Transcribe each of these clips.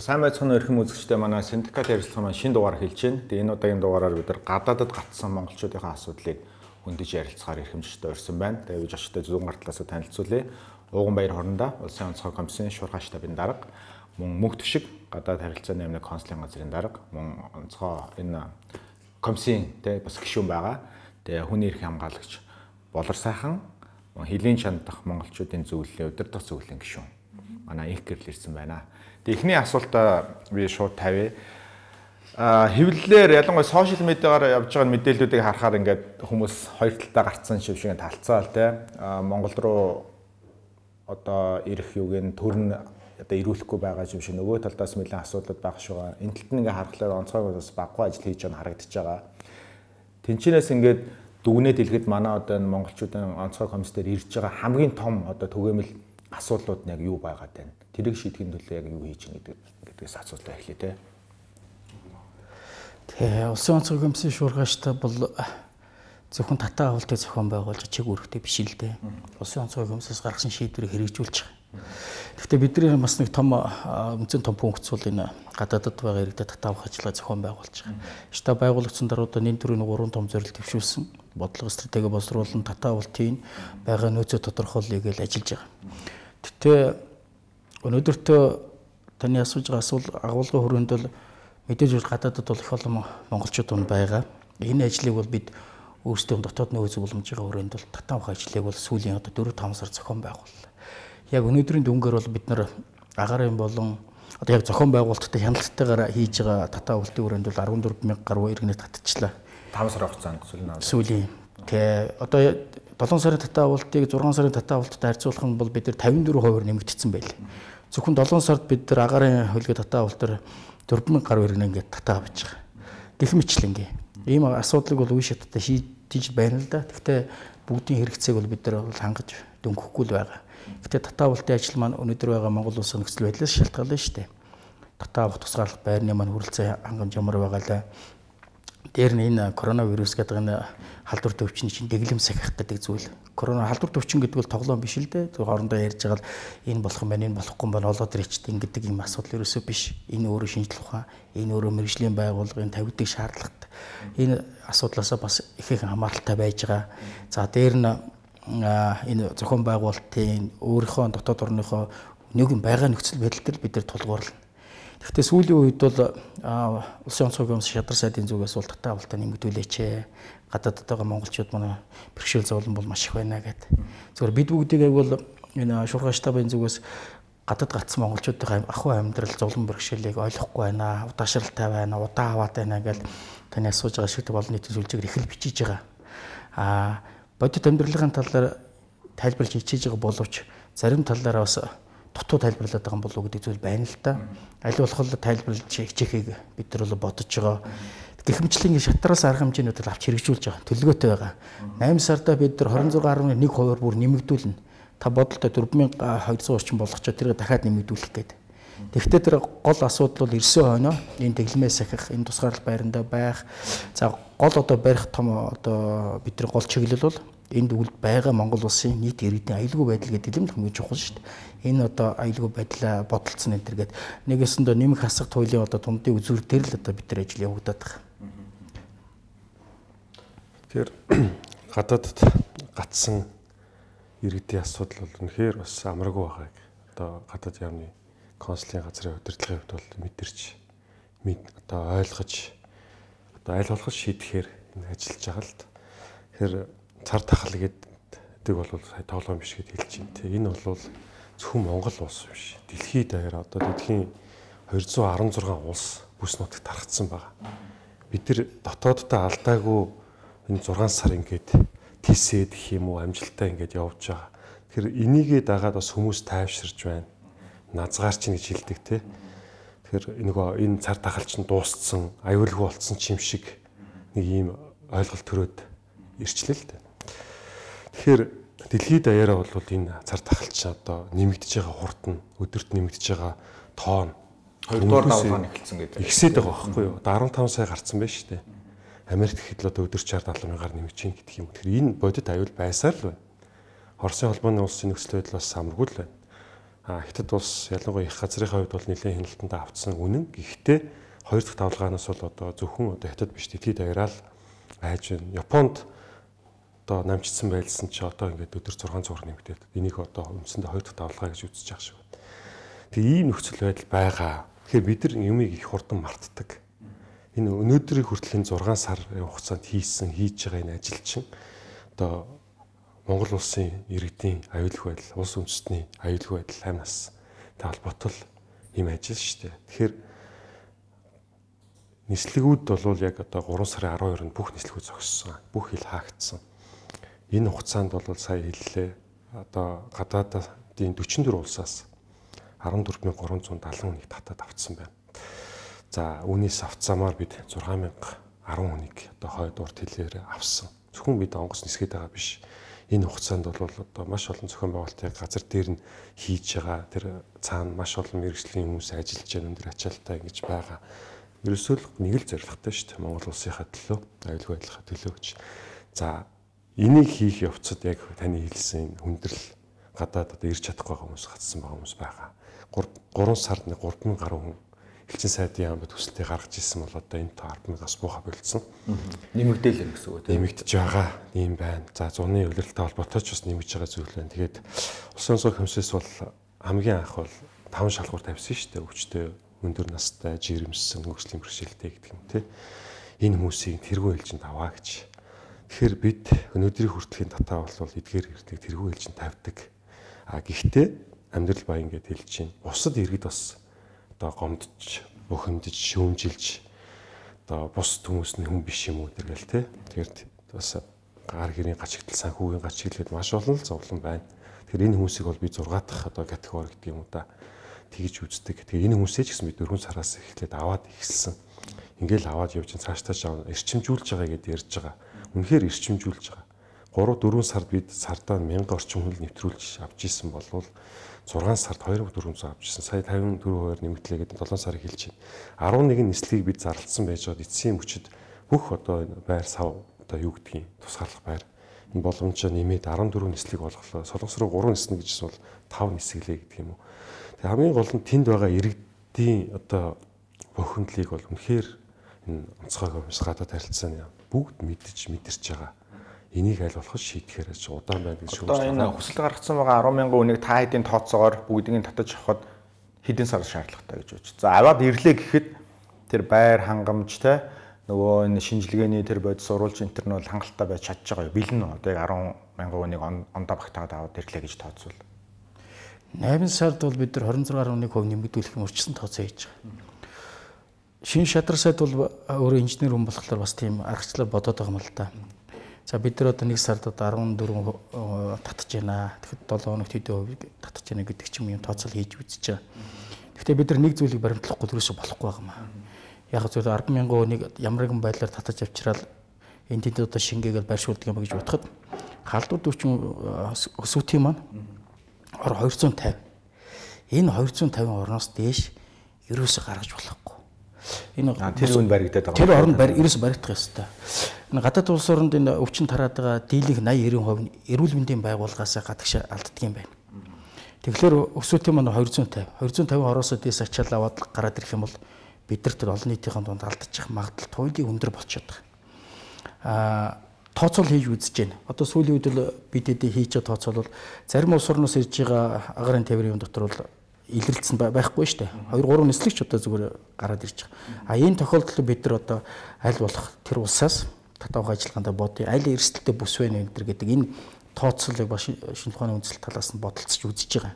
Сайн байцгаана өрхөм үзэгчдээ манай синдикат ярилцлага маань шинэ дугаар хэлж байна. Тэгээ энэ удаагийн дугаараар бид нар гадаадд гатсан монголчуудын асуудлыг хөндөж ярилцахаар эрхэмжтэй урьсан байна. Тэгээ би жочтой зүүн гартлаас танилцуулъя. Ууганбаяр хорондоо Улсын онцгой комиссийн шуурхай штабын дарга, мөн мөнх төвшиг гадаад харилцааны яамны консулын газрын дарга, мөн онцгой энэ комиссийн бас гишүүн байгаа. Тэгээ хүний эрхийн хамгаалагч Болор сайхан хилийн чандах монголчуудын зөвлөлийн удирдах зөвлөлийн гишүүн манай их гэрэл ирсэн байна. Эхний асуултаа би шууд тавья. Хэвлэлээр ялангуяа сошиал медиагаар явж байгаа мэдээллүүдийг харахаар ингээд хүмүүс хоёр талдаа гарцсан шиг талцаал те. Монгол руу одоо ирэх юуг төрн одоо ирүүлэхгүй байгаа юм шиг нөгөө талдаас нэлээд асуудал байх шугаа. Энэ талд нь ингээд харахаар онцгой бас баггүй ажил хийж байгаа харагдаж байгаа. Тэнчнээс ингээд дүгнээд хэлэхэд манай одоо энэ монголчуудын онцгой комиссээр ирж байгаа хамгийн том одоо түгээмэл асуудлууд нь яг юу байгаад байна? Тэрийг шийдэхин төлөө яг юу хийж гэнэ гэдгээс асуултаа эхлэе те. Тэгээ улсын онцгой комиссийн шуурхай штаб бол зөвхөн татаа авалтыг зохион байгуулж чиг үүрэгтэй биш л дээ. Улсын онцгой комиссээс гаргасан шийдвэрийг хэрэгжүүлж байгаа. Гэхдээ бидний бас нэг том үнцэн том функц бол энэ гадаадд байгаа иргэдэд татаа авах ажиллагаа зохион байгуулж байгаа. Штаб байгуулагдсан дараа нэн төрийн 3 том зорилт төвшүүлсэн. Бодлого стратеги боловсруулан татаа авалтын байгаа нөөцөө тодорхойлъё гэж ажиллаж байгаа. Тэгтээ өнөөдөртөө таны асууж байгаа асуулт агуулгын хүрээнд бол мэдээж гадаадд бол их олон монголчууд байгаа. Энэ ажлыг бол бид өөрсдөө дотоод нөөц боломжийн хүрээнд бол татаа авах ажлыг бол сүүлийн одоо 4-5 сар зохион байгууллаа. Яг өнөөдрийн дүнгээр бол бид нар агарын болон одоо яг зохион байгуулалттай хяналтайгаар хийж байгаа татаа авалтын хүрээнд бол 14,000 гаруй иргэнэ татчихлаа. 5 сар хугацаанд сүүлийн. Тэгээ одоо 7 сарын татаа авалтыг 6 сарын татаа авалттай харьцуулах нь бол бид нар 54% нэмэгдсэн байлээ. Зөвхөн 7 сард бид нар агарын хөлгөө татаа авалтаар 4,000 гаруй иргэнэ ингээд татаа авч байгаа. Гэх мэтлэнгээ. Ийм асуудлыг бол үе шаттай шийдэж байна л да. Гэхдээ бүгдийн хэрэгцээг бол бид нар хангаж дөнгөхгүй л байгаа. Гэхдээ татаа авалтын ажил маань өнөөдөр байгаа Монгол улсын нөхцөл байдлаас шалтгаална шүү дээ. Татаа авах тусгаарлах байрны маань хүрэлцээ хангамж ямар байгаа л. Дээр нь энэ коронавирус гэдэг энэ халдвар төвчний чинь дэглэм сахих гэдэг зүйл. Корона халдвар төвчин гэдэг бол тоглоом биш л дээ. Хоорондоо ярьж байгаа л энэ болох юм байна, энэ болохгүй юм байна, олоод ирчихдээ гэдэг юм асуудал ерөөсөө биш. Энэ өөрөө шинжлэх ухаан, энэ өөрөө мэрэгжлийн байгууллагын тавигддаг шаардлагатай. Энэ асуудлаасаа бас их хамааралтай байж байгаа. За дээр нь энэ зохион байгуулалтын өөрийнхөө дотоод орныхоо нэгэн байгаа нөхцөл байдалд бид нар тулгуурлана. Гэхдээ сүүлийн үед бол улсын онцгой комисс шадар сайдын зүгээс бол татаа авалтаа нэмэгдүүлээч. Гадаадд байгаа монголчууд манай бэрхшээл зовлон бол маш их байна гэдэг. Зөвхөн бид бүгдийг бол энэ шуурхай штабын зүгээс гадаад гацсан монголчуудын ахуй амьдрал зовлон бэрхшээлийг ойлгохгүй байна, удаашралтай байна, удаа аваад байна гэж таны асууж байгаа шиг олон нийтийн сүлжээгээр их л бичиж байгаа. Бодит амьдралын талаар тайлбарлаж хичээж байгаа боловч зарим талаараа бас дутуу тайлбарлаад байгаа болов уу гэдэг зүйл байна л да. Аль болох тайлбарлаж хичээхийг бид нар бол бодож байгаа. Гэхмэчлэн шатраас арга хэмжээнүүдийг авч хэрэгжүүлж байгаа. Төлөвлөгөөтэй байгаа. 8 сарда бид нар 26.1% бүр нэмэгдүүлнэ. Та бодолтой 4,200 орчим болгоч тэрийг дахиад нэмэгдүүлэх гэдэг. Тэгэхдээ тэр гол асуудал бол ирсэн хойноо энэ дэглэмээ сахих, энэ тусгаарлах байранда байх. За гол одоо барих том одоо бидний гол чиглэл бол энд үгэл байгаа Монгол улсын нийт иргэдийн аюулгүй байдал гэдэг юм хамгийн чухал шүү дээ. Энэ одоо аюулгүй байдлаа бодолцсон энэ төр гэдэг нэгэсэндээ нэмэх хасах туйлын одоо дундын үзүүр дээр л одоо бид нар ажил явагдаад байгаа. Тэгэхээр гадаадд гатсан иргэдийн асуудал бол үнэхээр бас амаргүй байгааг одоо гадаад яамны консулын газрын удирдлагын хувьд бол мэдэрч одоо ойлгож одоо аль болох шийдэхээр энэ ажиллаж байгаа л. Тэгэхээр цар тахал гэдэг бол сая тоглоом биш гэж хэлж байна. Тэ энэ бол зөвхөн Монгол улс биш. Дэлхийд даяар одоо дэлхийн 216 улс бүс нутагт тархацсан байгаа. Бид нар дотооддоо алдаагүй энэ 6 сар ингээд тийсээд гэх юм уу амжилттай ингээд явж байгаа. Тэгэхээр энийгээ дагаад бас хүмүүс тайвширж байна. Назгаар чинь гэж хэлдэг те. Тэгэхээр энэ цар тахал чинь дууссан, аюулгүй болцсон ч юм шиг нэг ийм ойлголт төрөөд ирчлээ л дээ. Тэгэхээр дэлхийд даяараа бол энэ цар тахалч одоо нэмэгдэж байгаа хурд нь өдөрт нэмэгдэж байгаа тоон 2 дугаар давлгаан эхэлсэн гэдэг. Ихсээд байгаа байхгүй юу? Одоо 15 сая гарцсан байна шүү дээ. Америкт ихэд л одоо өдөр 60-70 мянгаар нэмэгдэж байна гэдэг юм. Тэгэхээр энэ бодит аюул байсаар л байна. Оросын холбооны улсын нөхцөл байдал бас самаргүй л байна. Хятад улс ялангуяа их газрынхаа хувьд бол нэлээд хяналтандаа автсан үнэн. Гэхдээ хоёр дахь давлгаанаас бол одоо зөвхөн одоо хятад биш дэлхийд даяараа л байж байна. Японд одоо намжигдсан байлсан чи одоо ингээд өдөр 6 цувраг нэмэгдээд энийг одоо үндсэндээ хоёр дахь давлгаа гэж үзэж байгаа шүү. Тэгээ ийм нөхцөл байдал байгаа. Тэгэхээр бид нар юмыг их хурдан мартдаг. Энэ өнөөдрийн хүртлийн 6 сарын хугацаанд хийж байгаа энэ ажил чинь одоо Монгол улсын иргэдийн аюулгүй байдал, улс үндэстний аюулгүй байдал амнаас холбоотой ийм ажил шүү дээ. Тэгэхээр нислэгүүд бол яг одоо 3 сарын 12-нд бүх нислэгүүд зогссон. Бүх хил хаагдсан. Энэ хугацаанд бол сая хэллээ. Одоо гадаадын 44 улсаас 14370 хүнийг татаад авцсан байна. За үүнээс авцсамаар бид 6010 хүнийг одоо хойд урт хилээр авсан. Зөвхөн бид онгоц нисгээд байгаа биш. Энэ хугацаанд бол одоо маш олон зохион байгуулалтын газар дээр нь хийж байгаа тэр цаана маш олон мэргэжлийн хүмүүс ажиллаж байгаа өндөр ачаалттай ингэж байгаа. Ерөөсөө л нэг л зорилготой шүү дээ. Монгол улсынхаа төлөө, аюулгүй байдлынхаа төлөө гэж. За энийг хийх явцад яг таны хэлсэн хүндрэл гадаад одоо ирж чадахгүй хүмүүс гацсан байгаа хүмүүс байгаа. 3 сард 3000 гаруй хүн элчин сайдын яамд төсөлтөй гаргаж ирсэн бол одоо энэ 10,000-аас буухаа болцсон. Нэмэгдээл гэсэн үг тийм. Нэмэгдэж байгаа юм байна. За зуны удирдлагатай холбоотой ч бас нэмэгдэж байгаа зүйл байна. Тэгээд улсын онцгой комиссээс бол хамгийн анх бол 5 шалгуур тавьсан шүү дээ. Өвчтөй өндөр настай, жирэмсэн, хөгжлийн бэрхшээлтэй гэдэг юм тий. Энэ хүмүүсийг тэргуун ээлжинд аваа гэж. Тэгэхээр бид өнөөдрийн хүртлийн татаа бол эдгээр хэрэгтийг тэргуун ээлжинд тавьдаг. Гэхдээ амьдрал баян гэдээ хэлж чинь. Бусад иргэд бас одоо гомдж, бухимдж, шүүмжилж одоо бус хүмүүсний хүн биш юм уу тэргээл тий. Тэгэхээр бас гар гэрийн гачигдал, санхүүгийн гачигдал гэдэг маш олон зовлон байна. Тэгэхээр энэ хүмүүсийг бол би 6 дахь одоо категори гэдэг юм уу та тэгж үздэг. Тэгээ энэ хүмүүсээ ч гэсэн би 4 сараас эхлээд аваад ихэлсэн. Ингээл аваад явж цаашдаа эрчимжүүлж байгаа гэдээ ярьж байгаа. Үнэхээр эрчимжүүлж байгаа. 3-4 сард бид сардаа 1000 орчим хүн нэвтрүүлж авч исэн болвол 6 сард 2400 авч исэн. Сая 54% нэмэгдлээ гэдэг 7 сарыг хэлж байна. 11 нислэгийг бид зарлцсан байж байгаа эцсийн мөчөд бүх одоо байр сав одоо юу гэдгийг тусгаарлах байр энэ боломжоо нэмээд 14 нислэг болголоо. Солонгос руу 3 ниснэ гэжсэн бол 5 нисгэлээ гэдэг юм уу. Тэгээ хамгийн гол нь тэнд байгаа иргэдийн одоо бохиндлыг бол үнэхээр энэ онцгой комисс гадаад харилцааны бүгд мэдэрч байгаа. Энийг аль болох шийдэхээр удаан байна гэж шүүмж байгаа. Одоо энэ хүсэл гаргацсан байгаа 10,000 үнийг та хэдийн тооцоогоор бүгдийг татаж авахд хэдэн сар шаардлагатай гэж бодож. За аваад ирлээ гэхэд тэр байр хангамжтай нөгөө энэ шинжилгээний тэр бодис уруулж энэ төр нь бол хангалттай байж чадж байгаа юу? Бэлэн одоо яг 10,000 үнийг ондоо багтаад аваад ирлээ гэж тооцвол 8 сард бол бид нар 26.1% нэмэгдүүлэх юм урьдчилан тооцоо хийж байгаа. Шинэ шадар сайд бол өөрөө инженер хүн болохоор бас тийм аргачлал бодоод байгаа юм л да. За бид нар одоо 1 сард одоо 14 татж байна. Тэгэхэд 7 хоногт хэдэн хувийг татж байна гэдэг ч юм тооцоол хийж үзэж байгаа. Гэхдээ бид нар нэг зүйлийг баримтлахгүй төрөөсө болохгүй байгаа юм аа. Яг зөв 10,000 хүнийг ямар нэгэн байдлаар татаж авчираад энэ тэнд одоо шингээгээл байршуулдаг юм гэж бодоход халдвар төвчин өсвөтийн маань 250. Энэ 250 орноос дээш ерөөсө гаргаж болохгүй. Энэ тэр үн баригдаад байгаа. Тэр оронд ерөөсө баригдах ёстой. Энэ гадаад улс оронд энэ өвчин тараад байгаа дийлэнх 80-90% эрүүл мэндийн байгууллагаас гадагш алддаг юм байна. Тэгэхээр өсвөтийн маань 250 ороосоо дээш ачаал аваад гараад ирэх юм бол бид нар тэр олон нийтийн дунд алдчих магадлал туйлын өндөр болчиход байгаа. Тооцоол хийж үзэж байна. Одоо сүүлийн үед л бид дэдэ хийж байгаа тооцоол бол зарим улс орноос ирж байгаа агарын тээврийн дотор бол илэрлэлсэн байхгүй шүү дээ. 2-3 нислэгч одоо зүгээр гараад ирж байгаа. Энэ тохиолдолд бид нар одоо аль болох тэр улсаас татвар ажиллагаанд бодъё. Аль эрсдэлтэй бүс вэ нэ гэдэг энэ тооцоолыг ба шинэ ухааны үндэслэл талаас нь бодолцож үзэж байгаа.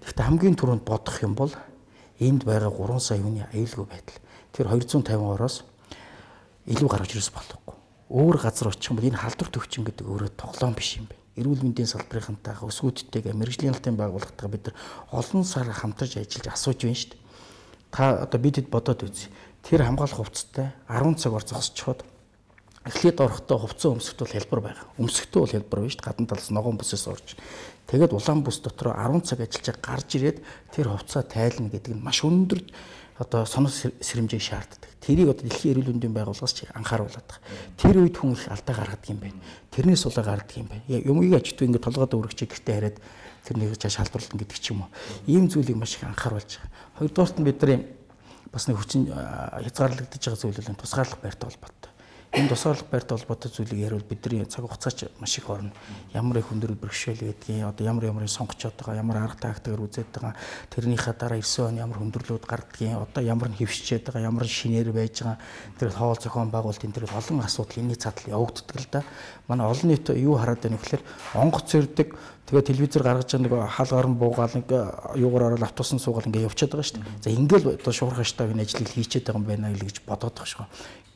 Гэхдээ хамгийн түрүүнд бодох юм бол энд байгаа 3 сая хүний аюулгүй байдал. Тэр 250 ороос илүү гаргаж ирэх болохгүй. Өөр газар очих юм бол энэ халдвар төвчин гэдэг өөрөө тоглоом биш юм байна. Эрүүл мэндийн салбарынхантайгаа өсвүүдтэйгээ мэрэгжлийн албан байгууллагатайгаа бид нар олон сар хамтарч ажиллаж асууж байна шүү дээ. Та одоо бид хэд бодоод үзье. Тэр хамгаалах хувцастай 10 цагаар зогсчиход эхлээд орохдоо хувцас өмсөхт бол хялбар байгаа. Өмсөхдөө бол хялбар байна шүү дээ. Гадна талаас ногоон бүсээс орж. Тэгээд улаан бүс дотор 10 цаг ажиллаж гарч ирээд тэр хувцас тайлна гэдэг нь маш өндөр одоо сонор сэрэмжийг шаарддаг. Тэрийг одоо дэлхийн эрүүл мэндийн байгууллагаас ч анхааруулдаг. Тэр үед хүн их алдаа гаргадаг юм байна. Тэрнээс улаа гаргадаг юм байна. Юмыг ажигдгүй ингээд толгойд өргөчийг гэртээ хараад тэрнийг цааш халдварлан гэдэг ч юм уу. Ийм зүйлийг маш их анхааруулж байгаа. Хоёрдугаарт нь бидний бас нэг хүчин хязгаарлагдаж байгаа зүйл нь тусгаарлах байртай холбоотой. Энэ тусгаарлах байртай холбоотой зүйлийг ярил бидний цаг хугацаач маш их орно. Ямар их өндөр бэрхшээл байдгийг, одоо ямар сонгочод байгаа, ямар арга тактикээр үзээд байгаа, тэрнийхээ дараа 9 он ямар хөндөрлүүд гардгийг, одоо ямар нь хөвшчээд байгаа, ямар шинээр байж байгаа, тэр хоол зохион байгуулалтын тэр олон асуудал энэний цаатал явагддаг л да. Манай олон нийт юу хараад байна вэ гэхээр онгоц ирдэг. Тэгээ телевизээр гаргаж байгаа нэг хаалгаар нь буугаал нэг юугаар ороод автобусан суугаал ингээ явчихад байгаа шүү дээ. За ингээл одоо шуурхай штабын ажлыг хийчихэд байгаа юм байна гэж бодоод байгаа шүү.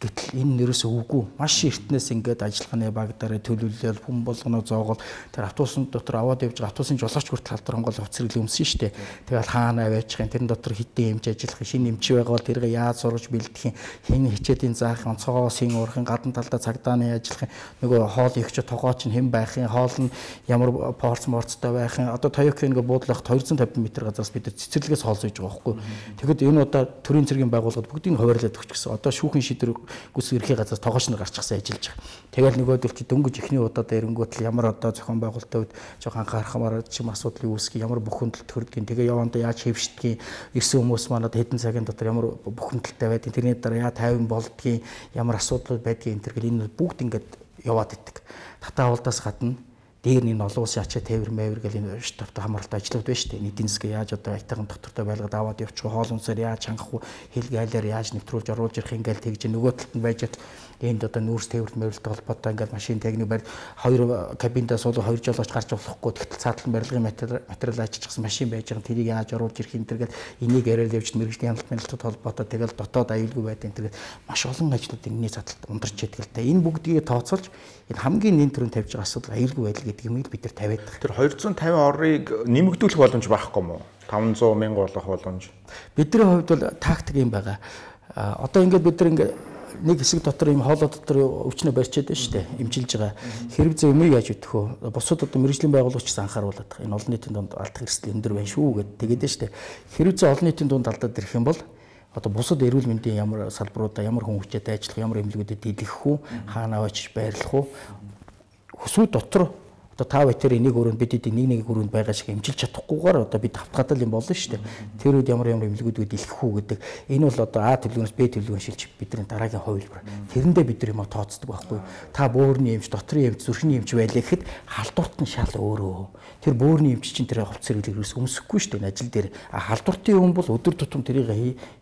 Гэтэл энэ нэрээс үгүй. Маш эртнээс ингээд ажиллагааны баг дараа төлөвлөл хүн болгоно зоогол тэр автобусын дотор аваад явж байгаа автобусын жолооч хүртэл халдвар хонгол хувцсрэл өмсөн шүү дээ. Тэгэл хаана байчих юм тэрэн дотор хитэн эмч ажиллах шинэ эмч байгаа бол тэргээ яаж сургаж бэлдэх юм хэн хичээдийн заах онцгоос ин уурахын гадна талдаа цагдааны ажиллах нөгөө хоол ихч тогооч нь хэн байх юм хоол нь ямар морцтой байх юм одоо Toyota ингээ буудлахт 250 м газраас бид цэцэрлэгээс хоол сууж байгаа байхгүй. Тэгэхэд энэ удаа төрийн цэргийн байгууллагад бүгдийг хуваарлаад өгч гэсэн. Одоо шүүхэн шийдвэр гүс ерхий газраас тогооч нар гарчихсан ажиллаж байгаа. Тэгэл нөгөөдөл чи дөнгөж ихний удаад эренгүүтэл ямар одоо зохион байгуулалтад жоохон анхаарахмаар чим асуудлыг үүсгэх ямар бүхэндэлт төрдгийг тэгээ явандаа яаж хэвшдгийг ирсэн хүмүүс манад хэдэн цагийн дотор ямар бүхэндэлтэй байдгийг тэрний дараа яа 50 болдгийг ямар асуудлууд байдгийг энэ төр энэ бүгд ингээд яваад идэг. Татаа авалдаас гадна дээр нь олон улсын ачаа тээвэр мэвэр гэл энэ штабтай хамааралтай ажиллаад байна шүү дээ. Нийтийн засаг яаж одоо айтайхан доктортой байлгаад аваад явчих уу, хоол унсаар яаж хангах уу, хэлгээ айлаар яаж нэвтрүүлж оруулж ирэх ингээл тэгж нөгөө талд нь байж энд одоо нүүрс тээвэрт мэвэрлэлтэй холбоотой ингээл машин техник барь хоёр кабиндаа суулга хоёр жолооч гарч болохгүй тэгтэл цаатлан барилгын материал ажиллажсэн машин байж байгаа тэрийг яаж оруулж ирэх энэ төргээл энийг яриад явж мэрэгжлийн хяналттай холбоотой тэгэл дотоод аюулгүй байд энэ төргээл маш олон ажлууд энэний цааталд ундарч яддаг л та. Энэ бүгдийг тооцоолж энэ хамгийн нэн төрөнд тавьж байгаа асуудал аюулгүй байдал гэдэг юм бид нар тавиад байгаа. Тэр 250 орыг нэмэгдүүлэх боломж байхгүй юу? 500 мянга болох боломж. Бидний хувьд бол тактик юм байгаа. Одоо ингээд бид нар ингээд нэг хэсэг дотор юм хоолой дотор өвчнөө барьчаад байна шүү дээ. Имчилж байгаа. Хэрэг зэ юмыг яаж өгөх вэ? Бусад одоо мэрэгжлийн байгууллагч анхааруулад байгаа. Энэ олон нийтийн дунд алдах эрсдэл өндөр байна шүү гэд тэгээд шүү дээ. Хэрэг зэ олон нийтийн дунд алдаад ирэх юм бол одоо бусад эрүүл мэндийн ямар салбаруудаа ямар хүн хүчтэй ажиллах, ямар эмнэлгүүдэд дийлэх үү, хаана очиж байрлах уу? Хүсүү дотор одоо та байтэр энийг өрөөнд бид нэг өрөөнд байгаа шиг эмчилж чадахгүйгээр одоо бид хавтгаадал юм болно шүү дээ. Тэр үед ямар эмнэлгүүдүүд дэлгэх үү гэдэг. Энэ бол одоо А төлөвлөгөөс Б төлөвлөгөөн шилжих бидний дараагийн хувилбар. Тэрэндээ бид нар юм тооцдог байхгүй юу? Та бөөрийн эмч, дотрийн эмч, зүрхний эмч байлаа гэхэд халдварт нь шал өөрөө. Тэр бөөрийн эмч чинь тэр хувц зэрэглээс өмсөхгүй шүү дээ ажил дээр. Халдвартын юм бол өдөр тутам тэрийг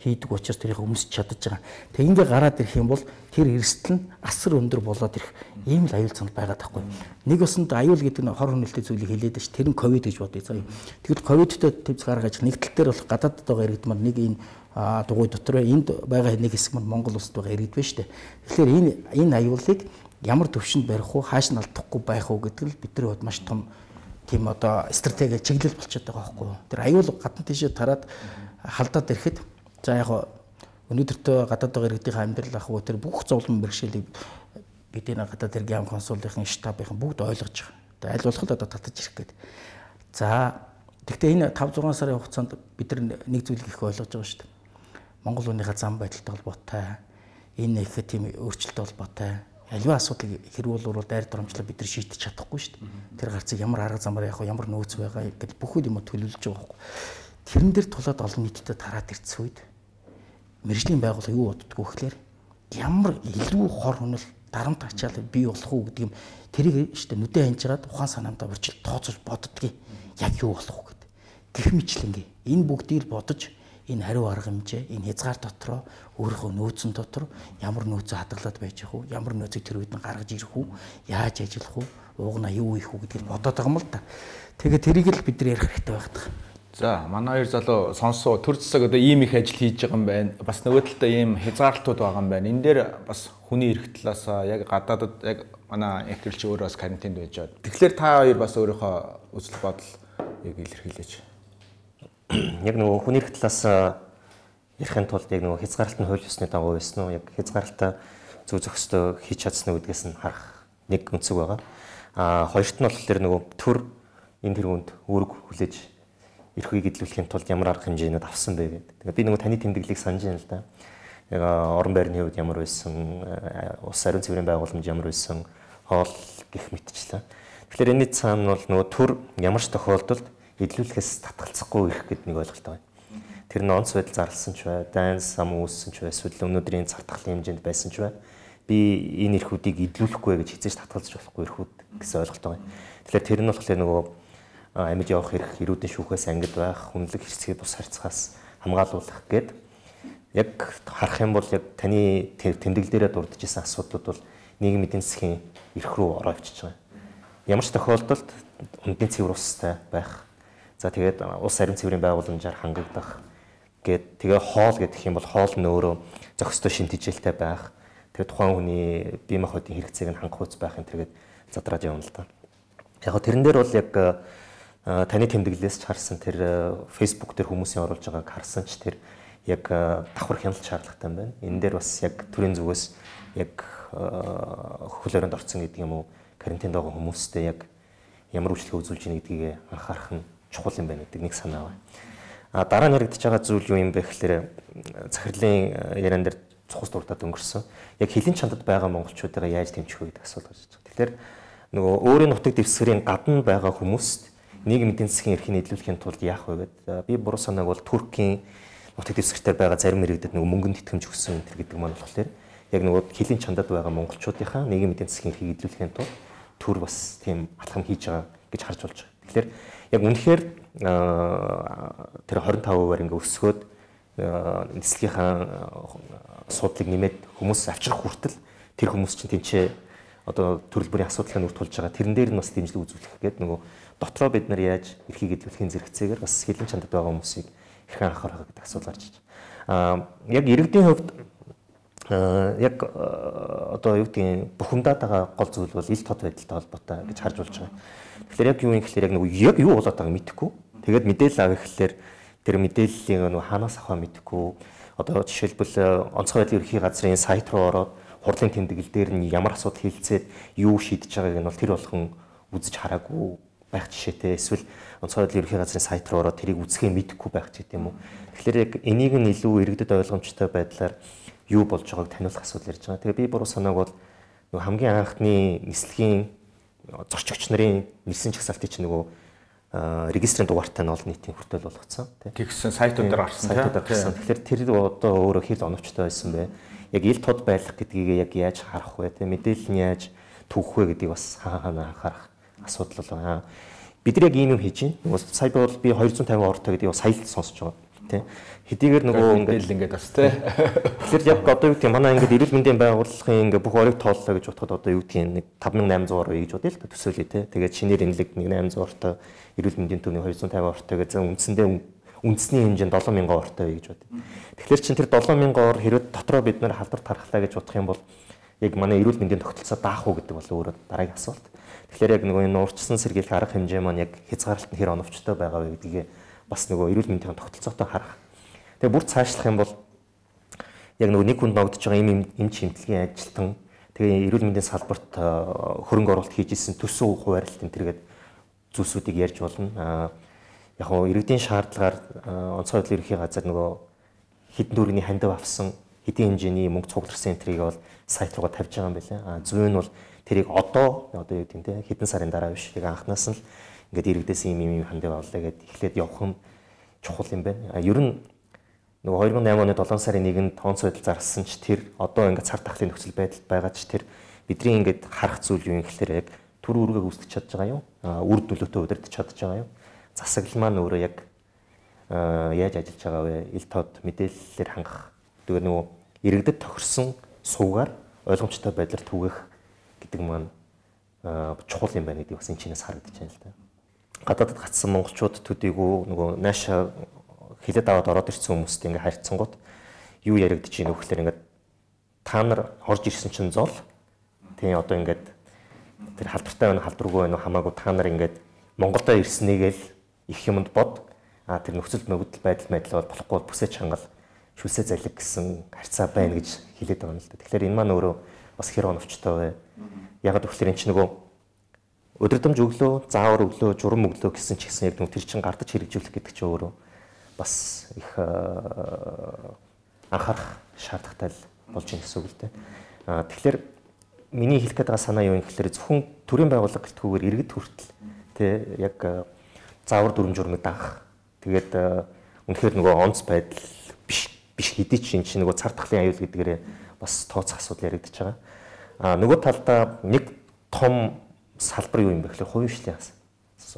хийдэг учраас тэрийг өмсч чадаж байгаа. Тэг ингээ гараад ирэх юм бол тэр эрсдэл нь асар өндөр болоод ирэх ийм л аюул цанд байгаа таахгүй. Нэг усанд аюул гэдэг нь хор хөнөөлтөй зүйлийг хэлээд ш. Тэр нь ковид гэж бодъё заа. Тэгэхэд ковидтэй төвс гаргаж нэг тал дээр бол гадаадд байгаа иргэдмар нэг энэ дугуй дотор энд байгаа нэг хэсэг маань Монгол улсад байгаа иргэд байна шүү дээ. Тэгэхээр энэ аюулыг ямар төвшөнд барих уу, хааш нь алдахгүй байх уу гэдэг нь бидний хувьд маш том тийм одоо стратеги чиглэл болчиход байгаа байхгүй юу. Тэр аюул гадна тийшээ тараад халдаад ирэхэд за яг өнөөдөртөө гадаад байгаа иргэдийн амьдрал ах уу тэр бүх зовлон бэрхшээлийг бидний гадаад иргэн консулын штабын бүгд ойлгож байгаа. Тэгээ аль болох л одоо татаж ирэх гээд. За тэгвэл энэ 5-6 сарын хугацаанд бид нэг зүйлийг их ойлгож байгаа шүү дээ. Монгол хүнийхээ зам байдалтай холбоотой энэ их тийм өөрчлөлттэй холбоотой аливаа асуудлыг хэрүүл дайр доромжлоо бид нар шийдэж чадахгүй шүү дээ. Тэр гарцыг ямар арга замаар явах вэ, ямар нөөц байгаа гэдэг бүхэл юм төлөвлөж байгаа байхгүй. Тэрэн дээр тулаад олон нийтэд тараад ирсэн үед мэрэгжлийн байгууллага юу боддгоо гэхээр ямар илүү хор хөнөл дарамт ачаал бий болох уу гэдэг юм тэрийг шүү дээ нүдэ хянж хагаад ухаан санаандаа урьдчил тооцож боддгийг яг юу болох вэ гэдэг. Гэх мэтлэнгээ энэ бүгдийг бодож энэ хариу арга хэмжээ энэ хязгаар дотроо өөрийнхөө нөөцөн дотор ямар нөөцөө хадгалаад байж их үү, ямар нөөцийг тэр үед нь гаргаж ирэх үү, яаж ажиллах үү, уугнаа юу хийх үү гэдгийг бодоод байгаа юм л да. Тэгээ тэрийг л бид нар ярих хэрэгтэй байх. За манай хоёр залуу сонсоо төр засаг одоо ийм их ажил хийж байгаа юм байна. Бас нөгөө талдаа ийм хязгаарлалтууд байгаа юм байна. Энэ дээр бас хүний эрх талаас яг гадаадад яг манай эхлэлч өөрөө бас карантинд байж байгаа. Тэгэхээр та хоёр бас өөрийнхөө үзэл бодлыг илэрхийлээч. Яг нөгөө хүний эрх талаас ярихын тулд яг нөгөө хязгаарлалт нь хууль ёсны дагуу байсан уу? Яг хязгаарлалтаа зөв зохистой хийж чадсан уу гэдгээс нь харах нэг өнцөг байгаа. Хоёрт нь болохоор нөгөө төр энэ тэргуунд үүрэг хүлээж эрхийг эдлүүлэхийн тулд ямар арга хэмжээнүүд авсан бэ гэдэг. Тэгээ би нөгөө таны тэмдэглэлийг санаж байна л да. Яг орон байрны хувьд ямар байсан, улс ариун цэврийн байгууламж ямар байсан, хоол гэх мэтчлээ. Тэгэхээр энэний цаана бол нөгөө төр ямар ч тохиолдолд эдлүүлэхээс татгалзахгүй ирэх гэдэг нэг ойлголт байна. Тэр нь онц байдал зарласан ч бай, дайн сам үүссэн ч бай, эсвэл өнөөдрийн цар тахлын хэмжээнд байсан ч бай. Би энэ эрхүүдийг эдлүүлэхгүй гэж хизээж татгалзаж болохгүй эрхүүд гэсэн ойлголт байна. Тэгэхээр тэр нь болохоор нөгөө амьд явах эрх, эрүүдийн шүүхээс ангид байх, хүнлэг хэрцгий бус харьцахаас хамгаалуулах гэд яг харах юм бол яг таны тэмдэглэл дээрээ дурдж исэн асуудлууд бол нийгмийн эдийн засгийн эрх рүү ороо авчиж байгаа. Ямар ч тохиолдолд үндэсний цэвэр устай байх. За тэгээд улс ариун цэврийн байгууламжаар хангагдах гэд тэгээ хоол гэдэг юм бол хоол нь өөрөө зохистой шин тэжээлтэй байх. Тэгээд тухайн хүний бие махбодын хэрэгцээг нь хангах үс байх энэ төргээд задраад явна л да. Яг го тэрэн дээр бол яг таны тэмдэглэлээс ч харсан тэр Facebook дээр хүмүүсийн оруулж байгааг харсан ч тэр яг давхар хяналт шаардлагатай юм байна. Энэ дээр бас яг төрийн зүгээс яг хөл өрөөнд орсон гэдэг юм уу, карантинд байгаа хүмүүстэй яг ямар үйлчлэг үзүүлж ийн гэдгийг анхаарах нь чухал юм байна гэдэг нэг санаа байна. Дараа нь яригдж байгаа зүйл юу юм бэ гэхээр захирлын яриан дээр цухас дуртад өнгөрсөн. Яг хилийн чандад байгаа монголчуудаа яаж дэмжих вэ гэдэг асуулт гарч байгаа. Тэгэхээр нөгөө өөрийн нутаг дэвсгэрийн гадна байгаа хүмүүст нийгмийн эдийн засгийн эрхийг нийлүүлэхийн тулд яах вэ гэдэг. Би буруу санааг бол Туркийн нутаг дэвсгэртээр байгаа зарим иргэдэд нөгөө мөнгөнд итгэмж өгсөн энэ гэдэг маань болохоор яг нөгөө хилийн чандад байгаа монголчуудынхаа нийгмийн эдийн засгийн эрхийг нийлүүлэхийн тулд төр бас тийм алхам хийж байгаа гэж харж болж байгаа. Тэгэхээр яг үнэхээр тэр 25% ингээ өсгөөд нислэгийнхаа асуудлыг нэмээд хүмүүс авчрах хүртэл тэр хүмүүс чинь тэнцээ одоо төрөл бүрийн асуудлыг нүрт тулж байгаа. Тэрэн дээр нь бас дэмжлэг үзүүлэх гээд нөгөө дотроо бид нар яаж эрхийг эдлүүлэхийн зэрэгцээгээр бас хилийн чандад байгаа хүмүүсийг хэрхэн анхаарах гэдэг асуулт гарч иж байна. Яг иргэдийн хувьд яг одоо юу гэдгийг бухимдаад байгаа гол зүйл бол ил тод байдалтай холбоотой гэж харж болж байгаа. Тэгэхээр яг юу юм гэхээр яг нөгөө яг юу болоод байгааг мэдэхгүй. Тэгээд мэдээлэл авах гэхээр тэр мэдээллийг нөгөө хаанаас авах мэдэхгүй. Одоо жишээлбэл онцгой байдлын ерхий газрын сайт руу ороод хурлын тэмдэглэл дээр нь ямар асуудал хилцээд юу шийдэж байгааг нь бол тэр болгон үзэж хараагүй байх жишээтэй. Эсвэл онцгой байдлын ерхий газрын сайт руу ороод тэрийг үзэхээ мэдэхгүй байх ч гэдэм үү. Тэгэхээр яг энийг нь илүү иргэдэд ойлгомжтой байдлаар юу болж байгааг таниулах асуудал ярьж байгаа. Тэгээ би буруу санааг бол нөгөө хамгийн анхны нислэгийн зорчигч нарын нэлсэн чагсаалтын чинь нөгөө регистрийн дугаартай нь олон нийтийн хүртэл болгоцсон тэгсэн сайтууд дээр гарсан тийм. Тэгэхээр тэр одоо өөрөө хэл оновчтой байсан бай. Яг ил тод байх гэдгийг яг яаж харах вэ? Тийм мэдээлэл нь яаж түүх вэ гэдгийг бас хаана анхаарах асуудал байна. Бид нар яг ийм юм хийж байна. Нөгөө сая бол би 250 ортой гэдгийг сая л сонсож байгаа. Тийм. Хэдийгээр нөгөө ингээд бас тийм. Тэгэхээр яг одоо юу гэдэг манай ингээд эрүүл мэндийн байгууллагын ингээд бүх орыг тооллоо гэж бодоход одоо юу гэдэг нэг 5800 ор гэж бодъё л төсөөлье тий. Тэгээд шинээр энэлэг 1800 ортой эрүүл мэндийн төвний 250 ортой гэж үндсэндээ үндэсний хэмжээнд 7000 ортой гэж бодъё. Тэгэхээр чин тэр 7000 ор хэрэг дотроо бид нар халдвар тархлаа гэж бодох юм бол яг манай эрүүл мэндийн тогтолцоо даах уу гэдэг бол өөрөө дараагийн асуулт. Тэгэхээр яг нөгөө энэ уурчсан сэргийлэх арга хэмжээ маань яг хязгаарлалт нь хэр оновчтой байгаа вэ гэдгийг бас нөгөө эрүүл мэндийн тогтолцоотой харах. Тэгээ бүр цаашлах юм бол яг нөгөө нэг хүнд ногдож байгаа эм чимтлэгийн ажилтан тэгээ эрүүл мэндийн салбарт хөрөнгө оруулалт хийж исэн төсөв хуваарлт энэ төргээд зүйлсүүдийг ярьж болно. Яг нь иргэдийн шаардлагаар онцгой байдлын ерхий газар нөгөө хэдэн төгрөгийн хандив авсан хэдийн хэмжээний мөнгө цугларсан энтрийг бол сайт руугаа тавьж байгаа юм байна. Зөв нь бол тэрийг одоо юу гэдэг те хэдэн сарын дараа биш яг анханаас нь л ингээд иргэдээс ийм хандив авлаа гэдээ эхлээд явах нь чухал юм байна. Ер нь нөгөө 2008 оны 7 сарын 1-нд тонц байдал зарласан ч тэр одоо ингээд цар тахлын нөхцөл байдалд байгаа ч тэр бидний ингээд харах зүйл юу юм гэхээр яг төр үүргээ үүсгэж чадж байгаа юу? Үр нөлөөтэй удирдах чадж байгаа юу? Засаглал маань өөрөө яг яаж ажиллаж байгаа вэ? Ил тод мэдээллээр хангах. Тэгээ нөгөө иргэдэд тохирсон суугаар ойлгомжтой байдлаар түгэх гэдэг маань чухал юм байна гэдэг бас энэ чинээс харагдаж байна л да. Гадаадд гацсан монголчууд төдийгүй нөгөө наашаа хилээд аваад ороод ирсэн хүмүүстэй ингээ харьцангууд юу яригдэж ийн вөхлөр ингээ та нар орж ирсэн чинь зол тий одоо ингээд тэр халдвартай байна халдваргүй байна хамаагүй та нар ингээд Монголдо ирснийгээл их юмд бод тэр нөхцөл байдал бол болохгүй бүсэж хангал шүлсээ залиг гэсэн харьцаа байна гэж хэлээд байгаа юм л да. Тэгэхээр энэ маань өөрөө бас хэр оновчтой вэ? Яг гэвэл энэ ч нөгөө өдөрдөмж өглөө, заавар өглөө, журам өглөө гэсэн ч гэсэн яг тэр чин гардаж хэрэгжүүлэх гэдэг чинь өөрөө бас их анхаарах шаардлагатай болж байна гэсэн үг л дээ. Тэгэхээр миний хэлэх гээд байгаа санаа юу юм гэхээр зөвхөн төрийн байгууллага гэлтгүүгээр иргэд хүртэл тий яг заавар дүрм журмыг даах. Тэгээд үнэхээр нөгөө онц байдал биш хэдий ч энэ чинь нөгөө цар тахлын аюул гэдгээрээ бас тооцох асуудал яригдчихэж байгаа. Нөгөө талдаа нэг том салбар юу юм бэ гэхээр хувийн хвшлийн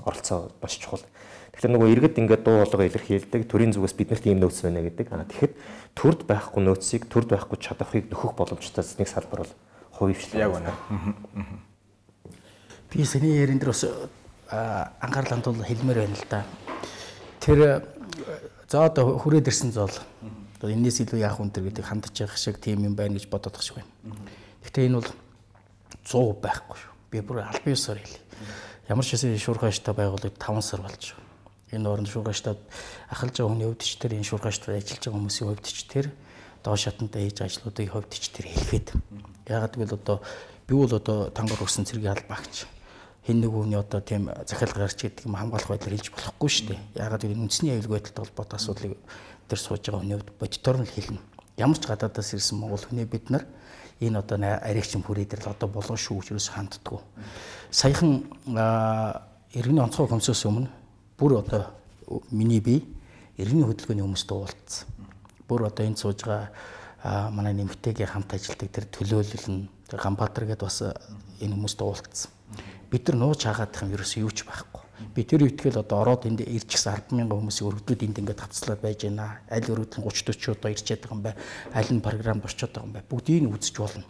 оролцоо маш чухал. Тэгэхээр нөгөө иргэд ингээд дуу хоолойгоо илэрхийлдэг, төрийн зүгээс биднэрт ийм нөөц байна гэдэг. Тэгэхэд төрд байхгүй нөөцийг, төрд байхгүй чадварыг нөхөх боломжтой нэг салбар бол хувийн хвшлээ. Яг байна. Би сэний ярин дээр бас анхаарал хандуул хэлмээр байна л да. Тэр за одоо хүрээд ирсэн зол энэс илүү яах вэ гэдэг хандж явах шиг тийм юм байна гэж бодоод байгаа шиг байна. Гэхдээ энэ бол 100% байхгүй шүү. Би бүр албан ёсоор хэлье. Ямар ч хэсэг шуурхайштай байгууллагад 5 сар болж байгаа. Энэ оронд шуурхайштад ахалж байгаа хүний хувьд ч тэр энэ шуурхайштад ажиллаж байгаа хүмүүсийн хувьд ч тэр доош хатантай хийж ажлуудыг хувьд ч тэр хэлгээд. Яагаад гэвэл одоо би бол одоо тангар өгсөн цэргийн албаагч. Хин нэг хүний одоо тийм захиалга гарч гэдэг юм хамгаалах байдлаар хэлж болохгүй шүү дээ. Яагаад гэвэл үндэсний аюулгүй байдалтай холбоотой асуудлыг тэр сууж байгаа хүний хувьд бодитоор нь хэлнэ. Ямар ч гадаадаас ирсэн монгол хүний бид нар энэ одоо аригч хүрээд ирэл одоо болоо шүү гэж юус ханддаггүй. Саяхан иргэний онцгой хөмсөөс өмнө бүр одоо миний бие иргэний хөдөлгөөний хүмүүстэй уулзсан. Бүр одоо энэ сууж байгаа манай нэмэгтэйгээ хамт ажилладаг тэр төлөөлөл нь тэр Ганбаатар гэдээ бас энэ хүмүүстэй уулзсан. Бид нар нууж хаагаадах юм ерөөсөө юу ч байхгүй. Би тэр үетгэл одоо ороод энд ирж гисэн 10,000 хүмүүсийн өргөдүүд энд ингээд хавцлаад байж байна. Аль өргөдөл 30-40 одоо ирчээд байгаа юм бай. Аль нь програмд орчод байгаа юм бай. Бүгдийг нь үзэж болно.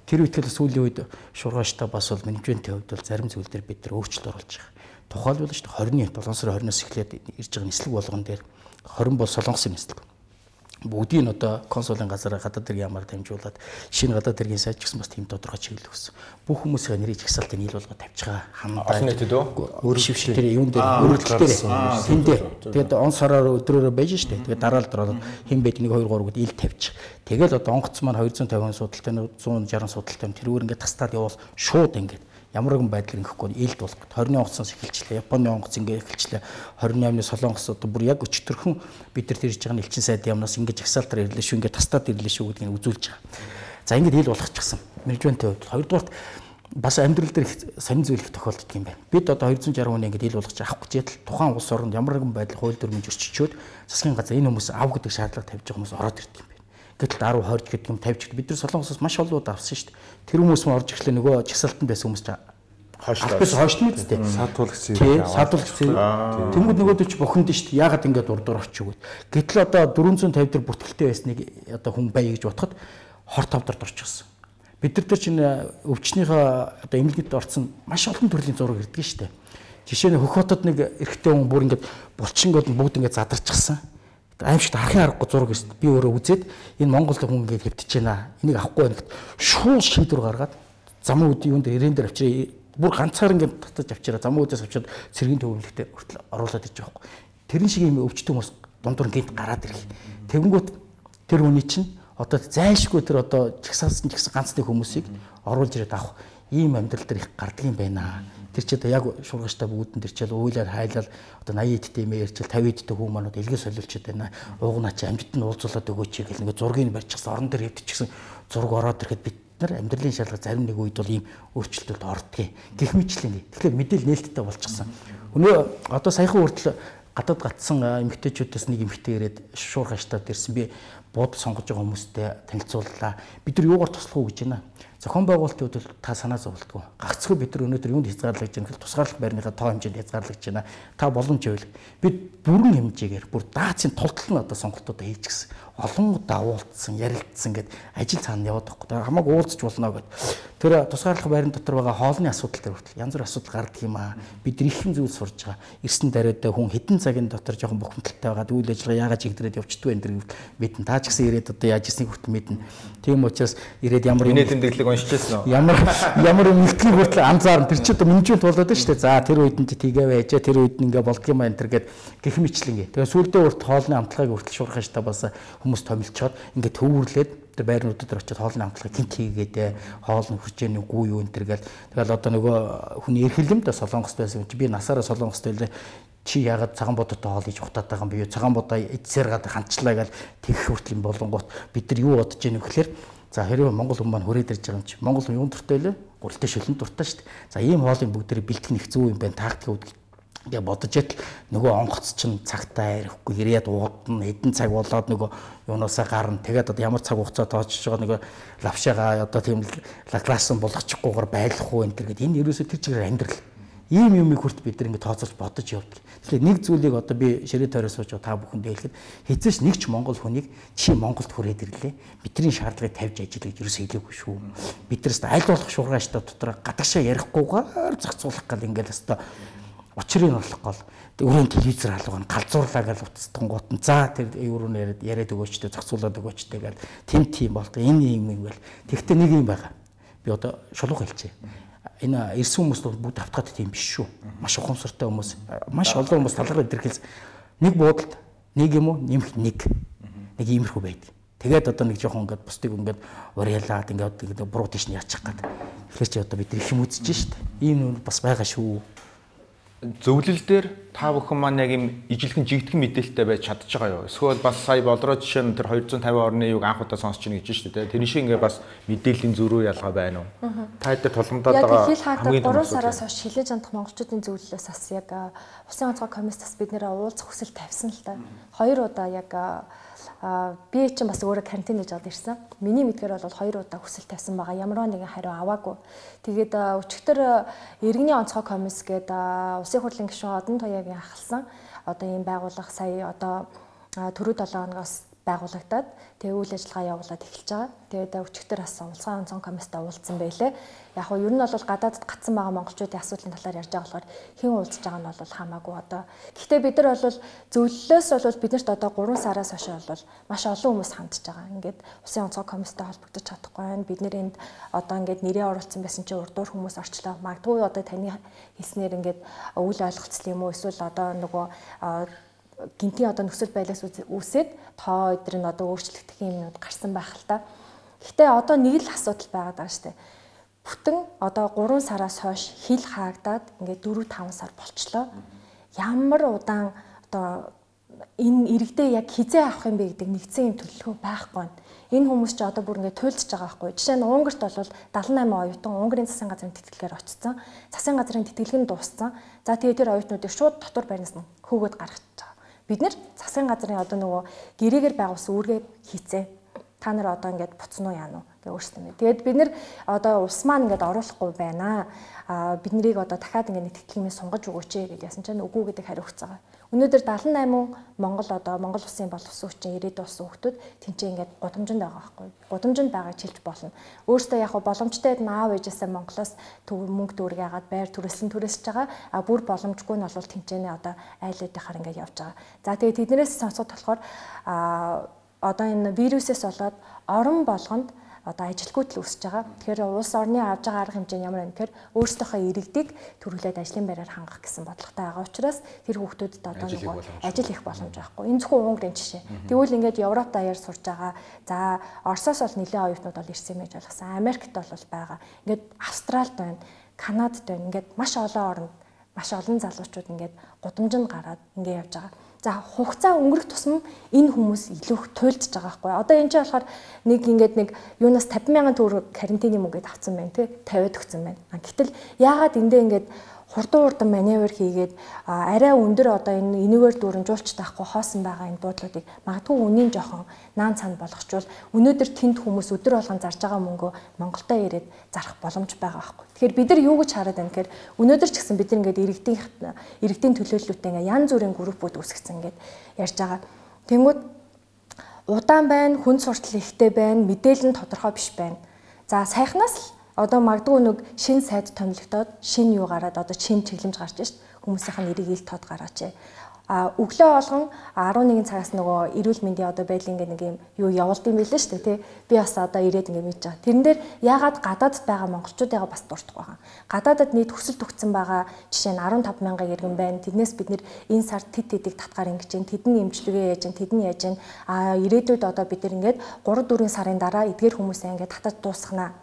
Тэр үетгэл сүүлийн үед шуургааштай бас бол менежментийн хувьд бол зарим зүйл дээр бид нар өөрчлөлт оруулж байгаа. Тухайлбал шүү дээ 20-ны 7 сарын 20-наас эхлээд ирж байгаа нислэг болгон дээр 20 бол солонгосын нислэг. Бүгдийг нь одоо консулын газараа гадаад хэргийн ямаар дамжуулаад шинэ гадаад хэргийн сайд ч гэсэн бас тийм тодорхой чиглэл өгсөн. Бүх хүмүүсийн нэрийг жагсаалтын нийл болгоод тавьж байгаа хандаа. Олон нийтэд өөр шившил тэр юун дээр өөрөлдөл дээр тэндээ тэгээд он сараар өдрөөрөө байж штэ. Тэгээд дараалал дөрөв хэн байд 1 2 3 гэд ил тавьж. Тэгэл одоо онгоц маань 250 судалтай 160 судалтай тэрүүр ингээд тастаад явал шууд ингээд ямар нэгэн байдлаар ингэхгүй илд болох. 20-ны онгоцоос эхэлчлээ. Японы онгоц ингээ эхэлчлээ. 28-ны солонгос одоо бүр яг өчтөрхөн бид нар тэрж байгаа элчин сайд ямнаас ингээ жагсаалтаар ирлээ шүү, ингээ тастаад ирлээ шүү гэдгийг үзүүлж байгаа. За ингээд ил болгочихсон. Менежментийн хувьд хоёрдугаарт бас амьдрал дээр сонин зүйл их тохиолддог юм байна. Бид одоо 260 хүний ингээд ил болгож авах гэж ядал тухайн улс оронд ямар нэгэн байдлаар хууль дүрмийн зөрчичөөд засгийн газар энэ хүмүүс ав гэдэг шаардлага тавьж байгаа хүмүүс ороод ирдэг юм байна. Гэтэл 10 20 гэдэг юм тавьж бид нар солонгосоос маш олоод авсан шүү дээ. Тэр хүмүүс мөн орж ирэхлээр нөгөө жагсаалтанд байсан хүмүүс хойшлно үстэй. Саатуулагч саатуулагч. Тэнгүүд нөгөөдөө ч бухимд шүү дээ. Яагаад ингэ дурдуур очив гэвэл. Гэтэл одоо 450 дээр бүртгэлтэй байсныг одоо хүн бай гэж бодоход 25 дард орчихсон. Бид нар тэр чинь өвчнийхөө одоо эмнэлэгт орсон маш олон төрлийн зураг ирдэг шүү дээ. Жишээ нь Хөх хотод нэг эрэгтэй хүн бүр ингэ булчингод бүгд ингэ задарчихсан. Аимшигт харахын аргагүй зураг өст. Би өөрөө үзээд энэ Монголд хүн ингэ хэвтэж байна. Энийг авахгүй байна гэхэд шууд шийдвэр гаргаад замын үдийн юунд ирээн дээр авчираа бүр ганцаар ингэ татаж авчираа замын үдээс авчираад цэргийн төвлөлтөд хүртэл оруулаад иж байгаа хгүй. Тэрэн шиг юм өвчтөн хүмүүс дундуур гинт гараад ирэх. Тэгэнгүүт тэр хүний чинь одоо зайлшгүй тэр одоо жагсаалсан ганцны хүмүүсийг оруулж ирээд авах ийм амьдрал дээр их гардаг юм байна. Тэр чи одоо яг шургаштай бүгдэн тэр чил уйлаар хайлал одоо 80 эдтэй юм ярьчил 50 эдтэй хүмүүс манууд илгээ солиулчихэд байна. Уугнаа чи амжилт нь уулзуулаад өгөөч гэл нэг зургийг барьчихсан орон дээр хэвтчихсэн зураг ороод ирэхэд бид нар амьдралын шалгалт зарим нэг үед бол ийм өөрчлөлтөд ордгийг гэх мэтлээ. Тэгэхээр мэдээлэл нээлттэй болчихсон. Өнөө одоо саяхан хүртэл гадаад гатсан эмэгтэйчүүдээс нэг эмэгтэй ирээд шуурхаштаад ирсэн. Би буудал сонгож байгаа хүмүүстэй танилцууллаа. Бид нар юугаар туслах уу гэж байна. Зохион байгуулалтын хувьд та санаа зовлтгүй. Гагцхүү бид нар өнөөдөр юунд хязгаарлаж байна гэвэл тусгаарлах байрныхаа тоо хэмжээнд хязгаарлаж байна. Та боломж байвал бид бүрэн хэмжээгээр бүр даацын тултал нь одоо сонголтуудаа хийж гисэн. Олон удаа уулзсан, ярилцсан гэд ажил цаана яваад байхгүй. Хамаагүй уулзч болно гэд. Тэр тусгаарлах байрны дотор байгаа хоолны асуудал дээр хүртэл янз бүр асуудал гардаг юм аа. Бид их юм зүйл сурж байгаа. Ирсэн дараатай хүн хэдэн цагийн дотор жоохон бухимдалтай байгаа. Үйл ажиллагаа яагаад чигдрээд явчихдгүй энэ төр мэдэн. Та ч гэсэн ирээд одоо яаж ирснийг хүртэл мэднэ. Тийм учраас ирээд ямар юм тэмдэглэг уншижсэн үү? Ямар үнэлтгийг хүртэл анзаарна. Тэр чи одоо менежмент болоод байна шүү дээ. За тэр үед нь тгээ байж, тэр үед нь ингээ болдго юм энэ төр гэд гэх мэтлэнгээ. Тэгээ сүүлдээ хүртэл хоолны амтлагыг хүртэл шуурхааштай бас хүмүүс томилчоод ингээ төвөрлээд тэр байрнуудад очиод хоолны хамтлагыг гинт хийгээд хоол нь хурж яаны үгүй юу энэ төр гэл тэгэл одоо нөгөө хүний эрхлэмд солонгост байсан чи би насаараа солонгост байлаа чи ягаад цагаан бодтой хоол хийж ухтаад байгаа юм бэ? Цагаан бодоо эцсээр гад ханчлаа гэл тэгэх хүртэл юм болонгууд бид нар юу бодож яах вэ гэхээр за хэрвээ Монгол хүмүүс маань хүрээд ирж байгаа юм чи Монгол хүн юун дуртай лээ? Гурилтай шөлөнд дуртай шүү дээ. За ийм хоолыг бүгдээрээ бэлтгэх нь их зөв юм байна. Тактик гээ бодож ятал нөгөө онгоц чинь цагтаа ирэхгүй ирээд уудна эдэн цаг болоод нөгөө юунаасаа гарна тэгээд одоо ямар цаг хугацаа тоочж байгаа нөгөө лавшаага одоо тийм лаглаасан болгочихгүйгээр байлах уу энэ гэдэг энэ ерөөсөө тэр чигээр амьдрал ийм юмыг хүрт бид нар ингэ тооцоолж бодож явдаг. Тэгэхээр нэг зүйлийг одоо би ширээ тойроос сууж та бүхэндээ хэлэхэд хэзээш нэг ч Монгол хүнийг чи Монголд хүрээд ирлээ. Бидний шаардлагыг тавьж ажиллая гэж ерөөсөө хэлээгүй шүү. Биднээс аль болох шуургааштай дотор гадагшаа ярихгүйгээр зохицуулах гал ингээл өстой учрыг олох гол өрөөнд телевизээр халууг нь галзуурлаа гэж утасдан гут нь за тэр өрөөнө яриад өгөөчтэй зохицуулаад өгөөчтэй гэл тийм болдог энэ юм ингээл тэгтээ нэг юм байгаа би одоо шулуух хэлчихье энэ ирсэн хүмүүс бүгд автгаад тийм биш шүү маш ухамсартай хүмүүс маш олон хүмүүс талархал илэрхийлсэн нэг буудалд нэг юм уу нэмэх нэг иймэрхүү байдаг тэгээд одоо нэг жоохон ингээд бусдыг ингээд уриалаад ингээд буруу тийш нь яачих гээд тэгэхээр чи одоо бид их юм үзэж шít ийм бас байгаа шүү. Зөвлөл дээр та бүхэн маань яг юм ижилхэн жигдхэн мэдээлэлтэй байж чадж байгаа юу? Эсвэл бас сая болроо жишээ нь тэр 250 орны юг анх удаа сонсч ийн гэж шүү дээ. Тэр шиг ингээ бас мэдээллийн зөрүү ялгаа байна уу? Та хэд тулгамдаад байгаа хамгийн 3 сараас хойш хилээж андах монголчуудын зөвлөлөөс бас яг Улсын онцгой комиссаас бид нэр уулзах хүсэл тавьсан л та. 2 удаа яг би чинь бас өөрөө карантин хийж аваад ирсэн. Миний мэдгээр бол 2 удаа хүсэл тавьсан байгаа. Ямар нэгэн хариу аваагүй. Тэгээд өчигдөр иргэний онцгой комисс гээд Улсын хурлын гишүүн Одон Туяагийн ахалсан одоо ийм байгууллага сая одоо түрүү 7 хоногоос байгуулагдаад тэгээ үйл ажиллагаа явуулаад эхэлж байгаа. Тэгээд өчигдөр бас Улсын онцгой комисстэй уулзсан байлээ. Яг нь ер нь бол гадаадд гацсан байгаа монголчуудын асуудлын талаар ярьж байгаа болохоор хэн уулзж байгаа нь бол хамаагүй одоо. Гэхдээ бид нар бол зөвлөлөөс бол биднэрт одоо 3 сараас хойш бол маш олон хүмүүс хандж байгаа. Ингээд Улсын онцгой комисстэй холбогдож чадахгүй байна. Бид нэр энд одоо ингээд нэрээ оруулсан байсан чинь урдуур хүмүүс орчлоо. Магадгүй одоо таны хэлснээр ингээд үйл ойлголцол юм уу эсвэл одоо нөгөө гинтийн одоо нөхцөл байлаас үүсээд тоо өдөр нь одоо өөрчлөгдөх юмнууд гарсан байх л та. Гэхдээ одоо нэг л асуудал байгаад байгаа шүү дээ. Бүтэн одоо 3 сараас хойш хил хаагдаад ингээд 4-5 сар болчлоо. Ямар удаан одоо энэ иргэдээ яг хизээ авах юм бэ гэдэг нэгдсэн юм төлөвлөгөө байхгүй байна. Энэ хүмүүс ч одоо бүр ингээд туйлдж байгаа байхгүй. Жишээ нь Унгарт бол 78 оюутан Унгарийн засгийн газрын тэтгэлгээр очсон. Засгийн газрын тэтгэлэг нь дууссан. За тэгээ тэр оюутнуудыг шууд дотор байрнаас нь хөөгөөд гаргаж байгаа. Бид нэр засгийн газрын одоо нөгөө гэрээгээр байгуулсан үүргээ хийцээ. Та нар одоо ингээд буцсан уу яана уу гэж өөрсдөө мэд. Тэгээд бид нэр одоо улс маань ингээд оруулахгүй байна. Бид нарыг одоо дахиад ингээд нэг тэтгэлгээс сунгаж өгөөч гэж ясан чинь үгүй гэдэг хариу өгч байгаа. Өнөөдөр 78 Монгол улсын боловсон хүчин ирээдүйн улсын хүмүүс тэнцээ ингээд гудамжинд байгаа байхгүй. Гудамжинд байгааг хэлж болно. Өөрөөсөө яг боломжтой нь аав ээжээсээ Монголоос мөнгө дүүрэг яагаад байр түрээсж байгаа. Бүр боломжгүй нь бол тэнцэнэ одоо айлуудынхаар ингээд явж байгаа. За тэгээд тэднээс сонсоод болохоор одоо энэ вирусээс болоод орон болгонд одоо ажилгүйд л үүсэж байгаа. Тэгэхээр улс орны авж байгаа арга хэмжээ нь ямар вэ гэхээр өөрсдийнхөө иргэдийг төрүүлээд ажлын байраар хангах гэсэн бодлоготой байгаа учраас тэр хүүхдүүдэд одоо нэг ажил их боломж байхгүй. Энэ зөвхөн Унгарийн жишээ. Тэгвэл ингээд Европ даяар сурж байгаа. За Оросоос бол нэлээд оюутнууд бол ирсэн юм гэж ойлгосон. Америкт бол байгаа. Ингээд Австралид байна, Канадад байна. Ингээд маш олон оронд маш олон залуучууд ингээд гудамжинд гараад ингээд явж байгаа. За хугацаа өнгөрөх тусам энэ хүмүүс илүү их туйлдж байгаа байхгүй. Одоо энэ чинь болохоор нэг юунаас 50,000 төгрөг карантины мөнгөд авсан байна тий 50-д өгсөн байна. Гэтэл яагаад эндээ ингээд хурдан маневр хийгээд арай өндөр одоо энэ энэгээр дүүрэмжүүлж таахгүй хоосон байгаа энэ буудлуудыг магадгүй үнийн жоохон наан цаана болгочвол өнөөдөр тэнд хүмүүс өдөр болгон зарж байгаа мөнгөө Монголдо ирээд зарах боломж байгаа байхгүй. Тэгэхээр бид нар юу гэж хараад байна гэхээр өнөөдөр ч гэсэн бид нар ингээд иргэдийн төлөөллөлтөй ингээд янз бүрийн группууд үүсгэсэн ингээд ярьж байгаа. Тэнгүүд удаан байна, хүн суртал ихтэй байна, мэдээлэл нь тодорхой биш байна. За сайхнаас одоо магадгүй нэг шинэ сайд томилогдоод шинэ юу гараад одоо шинэ чиглэмж гарч шít хүмүүсийнх нь нэрийг ил тод гараач. өглөө болгон 11 цагаас нөгөө эрүүл мэндийн одоо байдлын нэг юм юу явуулд юм билээ шүү дээ тий. Би бас одоо ирээд ингэ мэдж байгаа. Тэрэн дээр яагаад гадаадд байгаа монголчуудыгаа бас дуртах байгаа. Гадаадд нийт хүсэл төгссөн байгаа жишээ нь 15 мянган иргэн байна. Тэднээс бид нэр энэ сард тэдийг татгаар ингэж чинь тэдний эмчилгээ яаж чинь тэдний яаж чинь ирээдүйд одоо бид нар ингээд 3-4 сарын дараа эдгээр хүмүүсээ ингээд татаж дуусгана.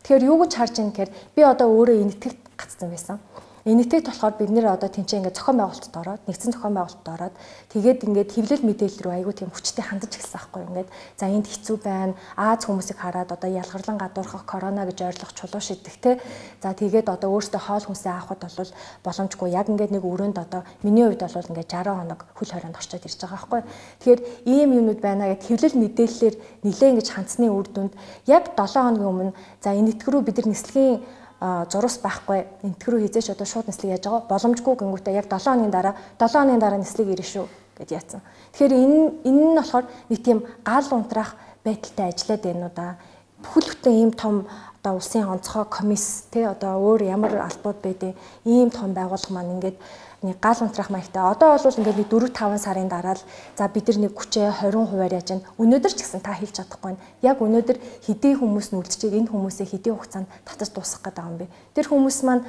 Тэгэхээр юу гэж харж байна гэхээр би одоо өөрөө энэтхэгт гацсан байсан. Энэтхэгт болохоор бид нэр одоо тэнцээ ингээд зохион байгуулалтад ороод нэгдсэн зохион байгуулалтад ороод тэгээд ингээд хэвлэл мэдээлэл рүү айгүй тийм хүчтэй хандаж эхэлсэн байхгүй ингээд за энд хэцүү байна. Аз хүмүүсийг хараад одоо ялгарлан гадуурхах корона гэж ойрлох чулуу шидэх те. За тэгээд одоо өөртөө хоол хүнсээ авахд бол боломжгүй. Яг ингээд нэг өрөөнд одоо миний хувьд бол ингээд 60 хоног хөл хорионд орчод ирж байгаа байхгүй. Тэгэхээр ийм юмнууд байна гэд хэвлэл мэдээллээр нэлээд ингэж хандсны үр дүнд яг 7 хоногийн өмнө за энэтхэг рүү бид нар нислэгийн зурус байхгүй энтгэрүү хизээч одоо шууд нислэг яаж байгаа боломжгүй гингүүтээ яг 7 хоногийн дараа нислэг ирнэ шүү гэж яатсан. Тэгэхээр энэ нь болохоор нэг тийм гал унтраах байдалтай ажиллаад байна уу да. Бүхэл бүтэн ийм том одоо улсын онцгой комисс те одоо өөр ямар албууд байдیں۔ Ийм том байгууллага маань ингээд нэг гал унтраах маягтай. Одоо бол ингээд 4-5 сарын дараа л за бид нар нэг хүчээ 20% яаж байна. Өнөөдөр ч гэсэн та хэлж чадахгүй байна. Яг өнөөдөр хэдий хүмүүс нь үлдчихээг энэ хүмүүсээ хэдий хугацаанд татаж дуусгах гэдэг юм бэ. Тэр хүмүүс маань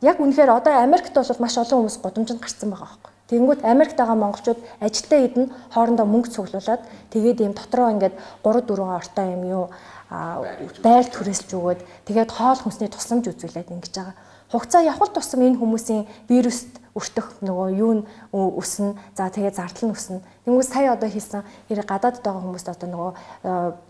яг үнэхээр одоо Америкт бол маш олон хүмүүс гудамжинд гарцсан байгаа байхгүй. Тэгэнгүүт Америкт байгаа монголчууд ажилтаа идэн хоорондоо мөнгө цуглуулад тэгээд ийм дотроо ингээд 3-4 ортой юм юу байр түрээсэлж өгөөд тэгээд хоол хүнсний тусламж үзүүлээд ингэж байгаа. Хугацаа явхал тусам энэ хүмүүсийн вируст өртөх нөгөө юу нь өснө. За тэгээд зардал нь өснө. Тэнгүүс сая одоо хийсэн хэрэг гадаадд байгаа хүмүүст одоо нөгөө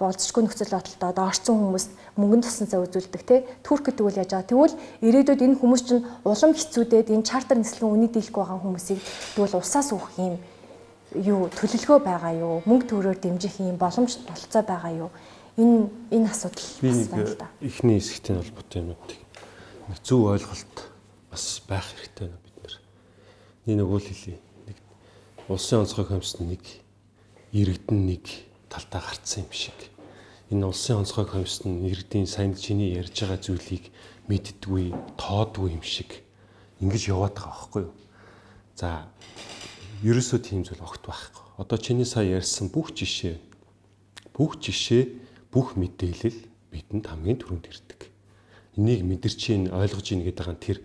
болцсохгүй нөхцөл байдалтай одоо орцсон хүмүүст мөнгөнд тусанцаа үзүүлдэг те. Туркэд тэгвэл яаж байгаа. Тэгвэл ирээдүйд энэ хүмүүс чинь улам хэцүүдээд энэ чартер нислэгийн үний дийлэхгүй байгаа хүмүүсийг тэгвэл улсаас өгөх юм юу төлөвлөгөө байгаа юу? Мөнгө төгрөгөөр дэмжих юм боломж болцоо байгаа юу? Энэ асуудал бас байна л да. Эхний хэсэгтэй холбоотой юмнуудыг нэг зөв ойлголт бас байх хэрэгтэй байна бид нар. Нэг өгөөл хэлье. Нэг улсын онцгой комиссд нэг иргэдэн нэг талтаа гарцсан юм шиг. Энэ улсын онцгой комиссд иргэдийн сайн чиний ярьж байгаа зүйлийг мэддэггүй, тоодгүй юм шиг ингэж яваад байгаа байхгүй юу? За ерөөсөө тийм зүйл огт байхгүй. Одоо чиний сая ярьсан бүх жишээ, бүх мэдээлэл бидэнд хамгийн түрүүнд ирдэг. Энийг мэдэрч ийн ойлгож ийн гэдэг нь тэр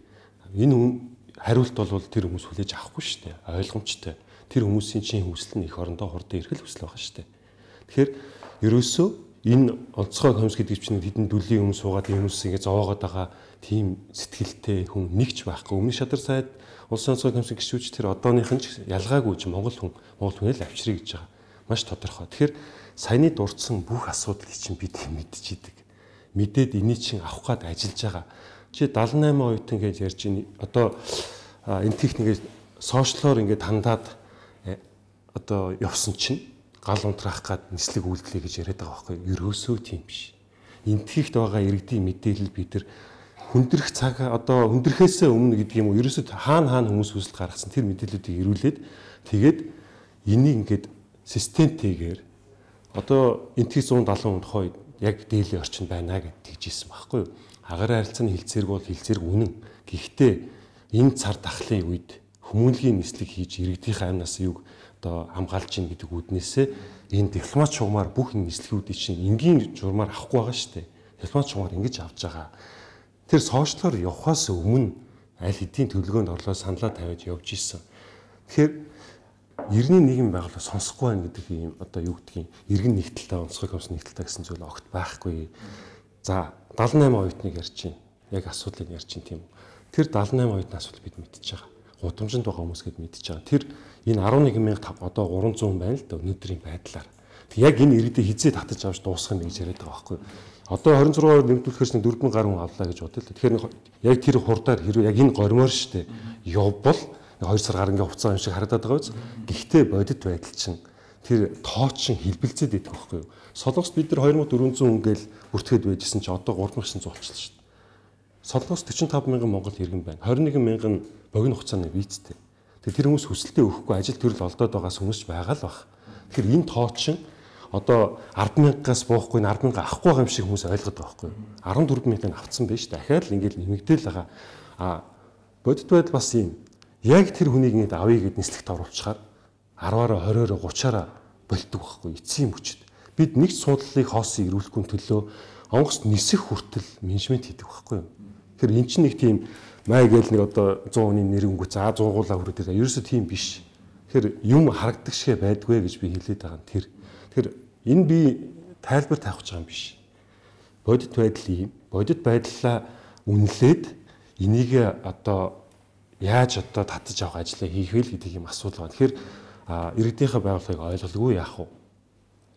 энэ хариулт бол тэр хүмүүс хүлээж авахгүй шүү дээ. Ойлгомжтой. Тэр хүмүүсийн чинь хүсэл нь их орондоо хурдан ирэх хүсэл байгаа шүү дээ. Тэгэхээр ерөөсөө энэ онцгой комисс гэдэг чинь хэдэн дүлийн өмнө суугаад энэ хүмүүс ингэ зовоогоод байгаа тийм сэтгэлтэй хүн нэгч байхгүй. Өмнө шадар сайд улсын онцгой комиссийн гишүүч тэр одооных нь ялгаагүй чи монгол хүнээ л авчирыг гэж байгаа. Маш тодорхой. Тэгэхээр саяны дурдсан бүх асуудлыг чинь бид мэдчихийдэг. Мэдээд энийг чинь авах гээд ажиллаж байгаа. Чи 78 оюутан гэж ярьж ийн одоо энэ техникийг сошиалоор ингээд хандаад одоо явсан чинь гал унтраах гээд нислэг үйлдэлээ гэж яриад байгаа байхгүй юу? Ерөөсөө тийм биш. Энтгэхт байгаа иргэдийн мэдээлэл бид нар хүндрэх цаг одоо хүндрэхээс өмнө гэдэг юм уу? Ерөөсөө хаана хүмүүс хүсэлт гаргасан тэр мэдээллүүдийг ирүүлээд тэгээд энийг ингээд системтэйгээр одоо энтгэх 170 хойд яг дээлийн орчин байна гэд тэгжсэн байхгүй юу? Агаар харилцааны хилцээрг бол хилцээрг үнэн. Гэхдээ энэ цар тахлын үед хүмүүнлэгийн нислэг хийж иргэдийнхээ амнаас юг одоо хамгаалж ийн гэдэг үүднээсээ энэ дипломат шугамар бүх энэ нислэгүүдийг чинь энгийн журмаар авахгүй байгаа шүү дээ. Дипломат шугамар ингэж авч байгаа. Тэр сошиалоор явахаас өмнө аль хэдийн төлөвлөгөөнд орлоо саналаа тавиад явж исэн. Тэгэхээр иргэний нийгэм байгууллага сонсохгүй байна гэдэг юм одоо юу гэдгийг иргэн нэгдэлтэй онцгой комисс нэгдэлтэй гэсэн зүйл огт байхгүй. За 78 оюутныг ярьж чинь яг асуудлыг ярьж чинь тийм. Тэр 78 оюутны асуудал бид мэдчихэж байгаа. Гудамжинд байгаа хүмүүс гээд мэдчихэж байгаа. Тэр энэ 11,000 одоо 300 байна л да өнөөдрийн байдлаар. Тэг яг энэ иргэдээ хизээ татаж авч дуусгах юм гэж яриад байгаа байхгүй. Одоо 26-аар нэмэгдүүлэхээс 4,000 гаруй авлаа гэж бодлоо. Тэгэхээр яг тэр хурдаар хэрвээ яг энэ гормоор штэ явбал 2 сар гарангийн хугацаа юм шиг харагдаад байгаа биз. Гэхдээ бодит байдал чинь тэр тооч шин хэлбэлцээд идэх байхгүй юу? Солонгост бид нар 2400 ингээл бүртгэхэд байжсэн чинь одоо 3900 болчихлоо шүү дээ. Солонгост 45,000 монгол иргэн байна. 21,000 богино хугацааны визтэй. Тэр хүмүүс хүсэлтээ өгөхгүй ажил төрөл олдоод байгаас хүмүүс байгаа л баг. Тэгэхээр энэ тооч шин одоо 10,000-аас буухгүй 10,000 авахгүй байгаа юм шиг хүмүүс ойлгоод байгаа байхгүй юу? 14,000-ыг авцсан байж дахиад л ингээл нэмэгдээл байгаа. Бодит байдал бас юм. яг тэр хүнийг ингэ авъя гэд нислэгт оруулчихаар 10-аараа 20-ороо 30-аараа болтдог байхгүй эцсийн мөчд. Бид нэг суудлалыг хоосыг ирүүлэхгүй төлөө онгоц нисэх хүртэл менежмент хийдэг байхгүй юу. Тэгэхээр эн чинь нэг тийм май гээл нэг одоо 100 хүний нэрнгүү за 100 гуулаа хүрээд байгаа. Ерөөсөө тийм биш. Тэгэхээр юм харагдаг шигэ байдгүй гэж би хэлээд байгаа нь тэр. Тэгэхээр энэ би тайлбар тавих гэж байгаа юм биш. Бодит байдал юм. Бодит байдлаа үнэлээд энийг одоо яаж одоо татаж авах ажлаа хийх вэ гэдэг юм асуудал байна. Тэгэхээр иргэдийнхээ байгууллагыг ойлголгүй яах вэ?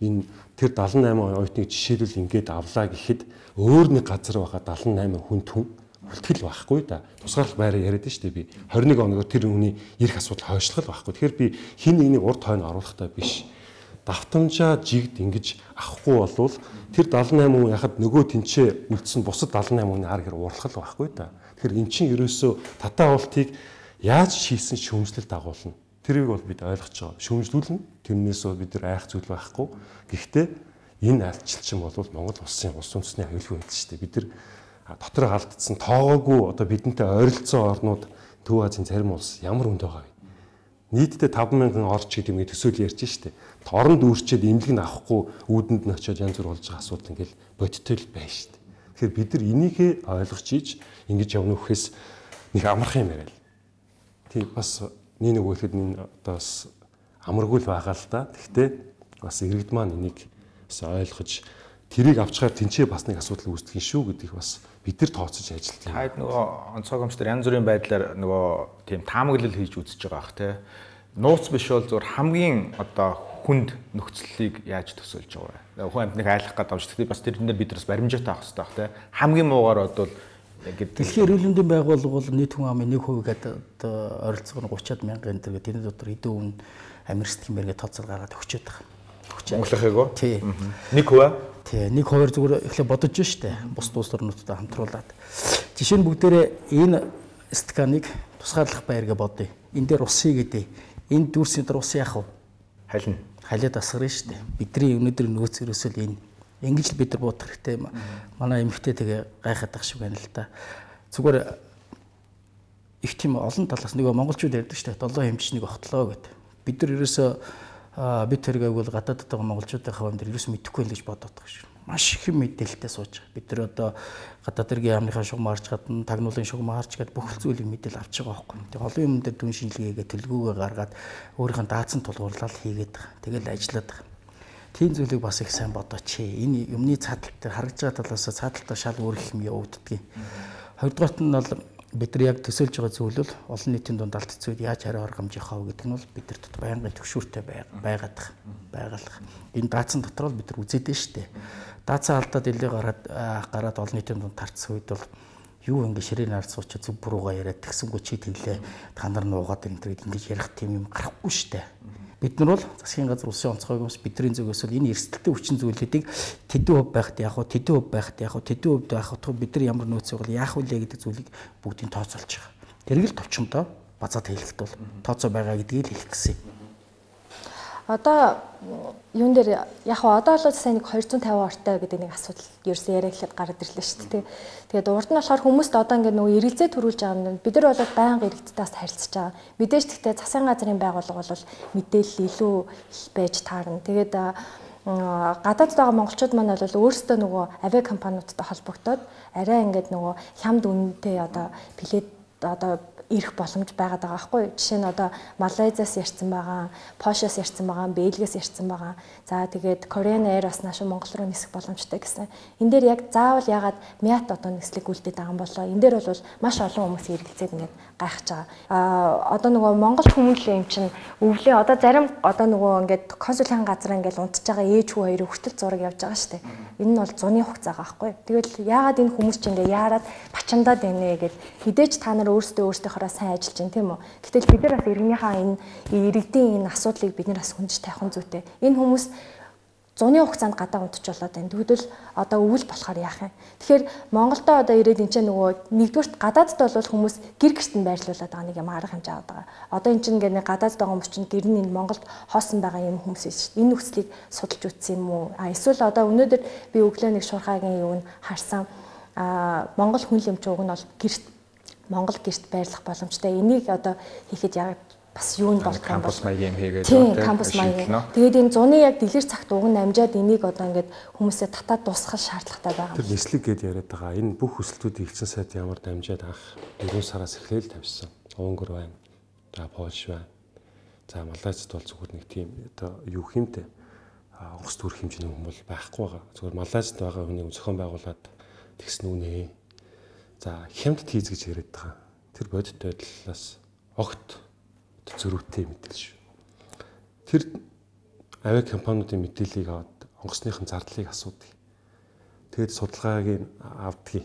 Энэ тэр 78 оюутныг жишээлбэл ингээд авлаа гэхэд өөр нэг газар байгаа 78 хүн үлтгэл байхгүй да. Тусгаарлах байраа яриад штэ би 21 оногоор тэр хүний ирэх асуудал хойшлох байхгүй. Тэгэхээр би хин нэгнийг урд хойно оруулахтай биш. Давтамжаа жигд ингэж авахгүй болвол тэр 78 хүн яхад нөгөө тэнцээ үлдсэн бусад 78 хүний ар гэр уурлах л байхгүй да. Тэгэхээр эн чинь ерөөсөө татаа уултыг яаж шийсэн шүүмжлэлт дагуулна. Тэрийг бол бид ойлгож байгаа. Шүүмжлүүлнэ. Тэрнээс бид нар айх зүйл байхгүй. Гэхдээ энэ альчилчин бол Монгол улсын улс үндэстний аюулгүй байдал шүү дээ. Бид нар дотроо алдсан тоогоогүй одоо бидэнтэй ойролцоо орнууд Төв Азийн зарим улс ямар хүнд байгаа вэ? Нийтдээ 50000 орч гэдэг юм төсөөл ярьж штэ. Оронд үүрчээд имлэг нь авахгүй үүдэнд нь очиод янз бүр болж байгаа асуудал ингээл бодиттой л байна штэ. Тэгэхээр бид нар энийг ойлгож ийж ингэж явна гэхээс нэг амарх юм яриа л. Тийм бас нэг үгэлэхэд энэ одоо бас амаргүй л байгаа л да. Гэхдээ бас иргэд маань энийг бас ойлгож тэрийг авчгаар тэнцээ бас нэг асуудал үүсдэг юм шүү гэдгийг бас бид нар тооцож ажилладаг. Таад нөгөө онцгой гомчтөр янз бүрийн байдлаар нөгөө тийм таамаглал хийж үзэж байгаа бах те. Нууц биш бол зөвхөн хамгийн одоо хүнд нөхцөлийг яаж төсөөлж байгаа вэ? Хүн амьтныг айлах гэдэг авч тэгэхээр бас тэрнээр бид бас баримжаатай авах хэрэгтэй бах те. Хамгийн муугаар бодвол ингээд дэлхийн эрүүл мэндийн байгууллага бол нийт хүн амын 1% гэдэг одоо ойролцоог нь 30-аад мянган энэ төр тэрний дотор хэдэн хүн амирст гэмээргээ тооцоол гаргаад өгчөөд байгаа. Монголынхыг уу? Тий. 1%? Тий, 1-2 зүгээр эхлээ бодож штэ. Бус улс орнуудтай хамтруулаад. Жишээ нь бүгдээрээ энэ сканыг тусгаарлах байргээ бодъё. Энд дээр ус хийгээд энэ дүүрсийн дээр ус яах вэ? Халина. Халиад асгарна штэ. Бидний өнөөдөр нөөц ерөөсөл энэ ингэж л бид нар бодох хэрэгтэй. Манай эмэгтэй тэгээ гайхаад ах шиг байна л да. Зүгээр их тийм олон талаас нөгөө монголчууд ярьдаг штэ. 7 хэмжээнийг огтлоо гэдэг. Бид нар ерөөсөө бид тэрийг бол гадаадд байгаа монголчуудын хавьд ерөөс мэдэхгүй л гэж бодоод байгаа шүү. Маш их мэдээлэлтэй сууж байгаа. Бид нар одоо гадаад тэргийн яамныхаа шугам харж гадна, тагнуулын шугам харж гад бүх зүйлийг мэдээл авч байгаа байхгүй. Тэгээ олон юм дээр дүн шинжилгээгээ төлөвлөгөөгөө гаргаад өөрийнхөө даацсан тулгуурлал хийгээд байгаа. Тэгэл ажиллаад байгаа. Тийм зүйлийг бас их сайн бодооч. Энэ юмны цаатал дээр харагдж байгаа талаас цааталтаа шал өөр их юм явагддаг. Хоёрдугаарт нь бол бид нар яг төсөөлж байгаа зүйл бол олон нийтийн дунд алдцууд яаж хариу аргамж явах вэ гэдэг нь бол бид нар дотор байнгын төгшүүртэй байгаад байгаа. Энэ даацсан дотор л бид нар үзээд байна шүү дээ. Даацсан алдаад илээ гараад олон нийтийн дунд тарцсан үед бол юу ингэ ширээн ард суучаа зүг буруугаа яриад тэгсэнгүү чи тэглээ та нар нуугаад энэ төрөйд ингэж ярих тийм юм гарахгүй шүү дээ. Бид нар бол засгийн газар улсын онцгой юмс бидний зүгээс бол энэ эрсдэлтэй хүчин зүйлүүдийг тэдэн хөв байхад яах вэ? Тэдэн хөв байхад яах вэ? Тэдэн хөвд байхад бид нар ямар нөөцөө бол яах вэ гэдэг зүйлийг бүгдийг тооцоолж байгаа. Тэрийг л товчмодоо базаад хэлэхэд бол тооцоо байгаа гэдгийг л хэлэх гэсэн. Одоо юун дээр яг одоо л сайн нэг 250 ортой гэдэг нэг асуудал ерөөсөө яриа эхлээд гараад ирлээ шүү дээ. Тэгээд урд нь болохоор хүмүүст одоо ингээд нөгөө эргэлзээ төрүүлж байгаа юм. Бид нар бол байнга иргэдтэйс харилцаж байгаа. Мэдээж гэхдээ засгийн газрын байгууллага бол мэдээлэл илүү их байж таарна. Тэгээд гадаадд байгаа монголчууд маань бол өөрсдөө нөгөө авиа компаниудтай холбогдоод арай ингээд нөгөө хямд үнэтэй одоо билет одоо ирэх боломж байгаад байгаа байхгүй. Жишээ нь одоо Малайзаас ярьсан байгаа, Польшоос ярьсан байгаа, Бельгиас ярьсан байгаа. За тэгээд Korean Air бас нааш Монгол руу нисэх боломжтой гэсэн. Энэ дээр яг заавал ягаад Мят одоо нислэг үлдээд байгаа юм болоо. Энэ дээр бол маш олон хүмүүс эргэлзээд ингээд гайхаж байгаа. Одоо нөгөө Монгол хүмүүс юм чинь өвлөө одоо зарим одоо нөгөө ингээд консулын газар ингээд унтж байгаа ээж хүү хоёрын хүртэл зураг явж байгаа шүү дээ. Энэ нь бол зуны хугацаа байхгүй. Тэгэл ягаад энэ хүмүүс чинь ингээд яарад бачандаад байна гэд хідээж та нар өөрсдөө сайн ажиллаж байна тийм үү. Гэтэл бид нар бас иргэнийхээ энэ иргэдийн энэ асуудлыг бид нар бас хүндж тавих зүйтэй. Энэ хүмүүс зуны хугацаанд гадаа унтж болоод байна. Тэгвэл одоо өвөл болохоор яах юм. Тэгэхээр Монголдо одоо ирээд энэ ч нөгөө нэгдүгürt гадаадд бол хүмүүс гэр гэрт нь байрлуулад байгаа нэг юм арга хэмжээ аваад байгаа. Одоо энэ чинь ингээд гадаадд байгаа хүмүүс чинь гэр нь энэ Монголд хоосон байгаа юм хүмүүс шүү дээ. Энэ нөхцөлийг судалж үзсэн юм уу? Эсвэл одоо өнөөдөр би өглөө нэг шуурхагийн юуг нь харсан. Монгол хүн лэмч уг нь бол гэрт Монгол гэрт байрлах боломжтой. Энийг одоо хийхэд яг бас юунд болох юм бол кампус маягийн хийгээд кампус маягийн. Тэгээд энэ зуны яг дэлгэр цагт уг нь амжаад энийг одоо ингээд хүмүүсээ татаад дуусгах шаардлагатай байгаа. Тэр нислэг гэд яриад байгаа. Энэ бүх хүсэлтүүдийг элчин сайд ямар дамжаад анх 4 сараас эхлээл тавьсан. Унгар байна. За Польш байна. За Малайзад бол зүгээр нэг тийм одоо юу хэмтэй онгоц төрөх хэмжээний хүн бол байхгүй байгаа. Зүгээр Малайзад байгаа хүнийг зохион байгуулад тэгсэн үнэ. За хямд тийз гэж яриад байгаа. Тэр бодит байдлаас огт зөрүүтэй мэдээлэл шүү. Тэр авиа компаниудын мэдээллийг аваад онгоцныхын зардлыг асуудаг. Тэгээд судалгааг авдаг.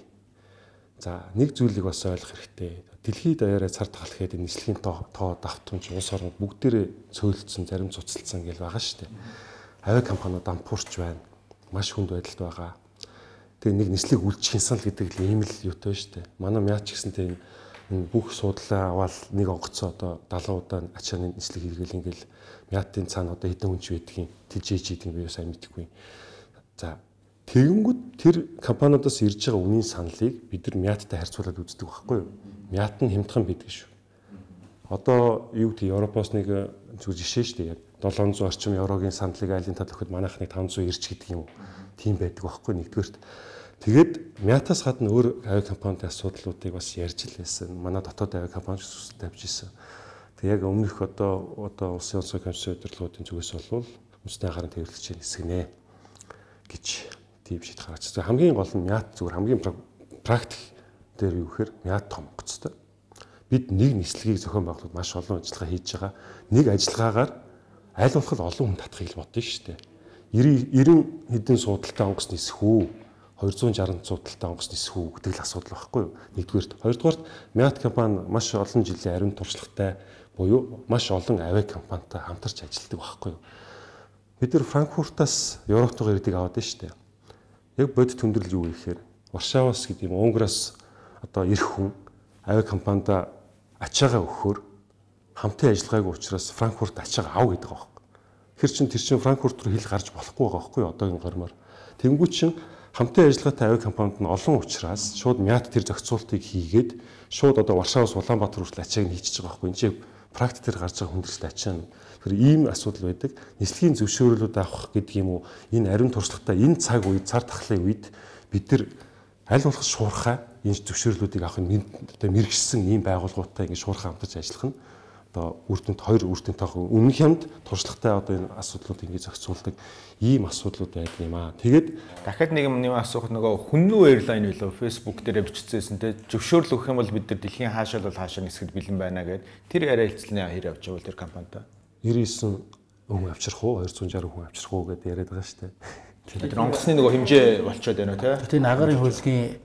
За нэг зүйлийг бас ойлгох хэрэгтэй. Дэлхийд даяараа цар тахалхэд нислэгийн тоо давтамж улс орнууд бүгдээрээ цөөлдсөн, зарим цуцалдсан гэж байгаа шүү дээ. Авиа компаниуд дампуурч байна. Маш хүнд байдалд байгаа. Тэгээд нэг нислэг үлдчих юмсан л гэдэг л ийм л юутай шүү дээ. Манай мяач гэсэнтэй энэ бүх суудлаа аваад нэг онгоцоо одоо 70 удаа ачааны нислэг хийгээл ингээл мяатын цаана одоо хэдэн хүн ч байдгийг тижээж ийдэг би сайн мэдэхгүй. За тэгэнгүүт тэр компаниудаас ирж байгаа үнийн саналыг бид нар мяаттай харьцуулаад үздэг байхгүй юу? Мяат нь хямдхан байдаг шүү. Одоо юу гэдэг Европоос нэг зүгээр жишээ шүү дээ. Яг 700 орчим еврогийн саналыг айлын тал өгөхөд манайх нэг 590 гэдэг юм. Тийм байдаг байхгүй нэгдүгээрт. Тэгээд мятаас гадна өөр авиа компанийн асуудлуудыг бас ярьж л байсан. Манай дотоод авиа компани зүсэлт тавьж исэн. Тэг яг өмнөх одоо улсын онцгой комиссийн удирдлагуудын зүгээс бол үндэсний анхаарын тээвэрлэгчийн хэсэг нэ гэж тийм шийдэл гаргаж. Хамгийн гол нь мят зүгээр хамгийн практик дээр юу гэхээр мят том гоцтой. Бид нэг нислэгийг зохион байгуулахад маш олон ажиллагаа хийж байгаа. Нэг ажиллагаагаар аль болох олон хүн татахыг бодсон шүү дээ. 90 хэдэн суудалтай онгоц нисэх үү? 260 суудалтай онгоц нисэх үү гэдэг л асуудал байхгүй юу? Нэгдүгээрт, хоёрдугаарт Мят компани маш олон жилийн ариун туршлагатай буюу маш олон авиа компанитай хамтарч ажилладаг байхгүй юу? Бид нар Франкфуртаас Европтойгоо ирдэг аваад байна шүү дээ. Яг бодит төндрөл юу гэхээр Варшаваас гэдэг юм Унгараас одоо ирэх хүн авиа компанида ачаагаа өгөхөөр хамтын ажиллагаагүй учраас Франкфурт ачаагаа ав гэдэг байгаа байхгүй. Тэр чинь Франкфурт руу хил гарч болохгүй байгаа байхгүй юу? Одоогийн гормоор. Тэнгүүт чинь хамтын ажиллагаатай авиа компанид нь олон учраас шууд Мят тэр зохицуултыг хийгээд шууд одоо Варшаваас Улаанбаатар хүртэл ачааг нь хийчихэж байгаа байхгүй. Энд чинь практик дээр гарч байгаа хүндрэлтэй ачаа нь. Тэр ийм асуудал байдаг. Нислэгийн зөвшөөрлүүд авах гэдэг юм уу? Энэ ариун туршлагатай энэ цаг үед цар тахлын үед бид нар аль болох шуурхай энэ зөвшөөрлүүдийг авах нь одоо мэрэгчсэн ийм байгууллагуудтай ингэ шуурхай хамтарч ажиллах нь одоо хоёр үр дүнтэй өмнөх хямд туршлагатай одоо энэ асуудлууд ингэ зохицуулдаг ийм асуудлууд байдаг юм аа. Тэгээд дахиад нэг юм асуух нөгөө хүннүү эйрлайн билүү Facebook дээр биччихсэн те зөвшөөрөл өгөх юм бол бид нар дэлхийн хаашаа бол хаашаа нисэхэд бэлэн байна гэд тэр яриа хэлцлэн хэр явж байгаа тэр компанитай 99 хүн авчрах уу 260 хүн авчрах уу гэдээ яриад байгаа шүү дээ. Тэр онгоцны нөгөө хэмжээ болчиход байна те. Тэгээ агарын хөлгийн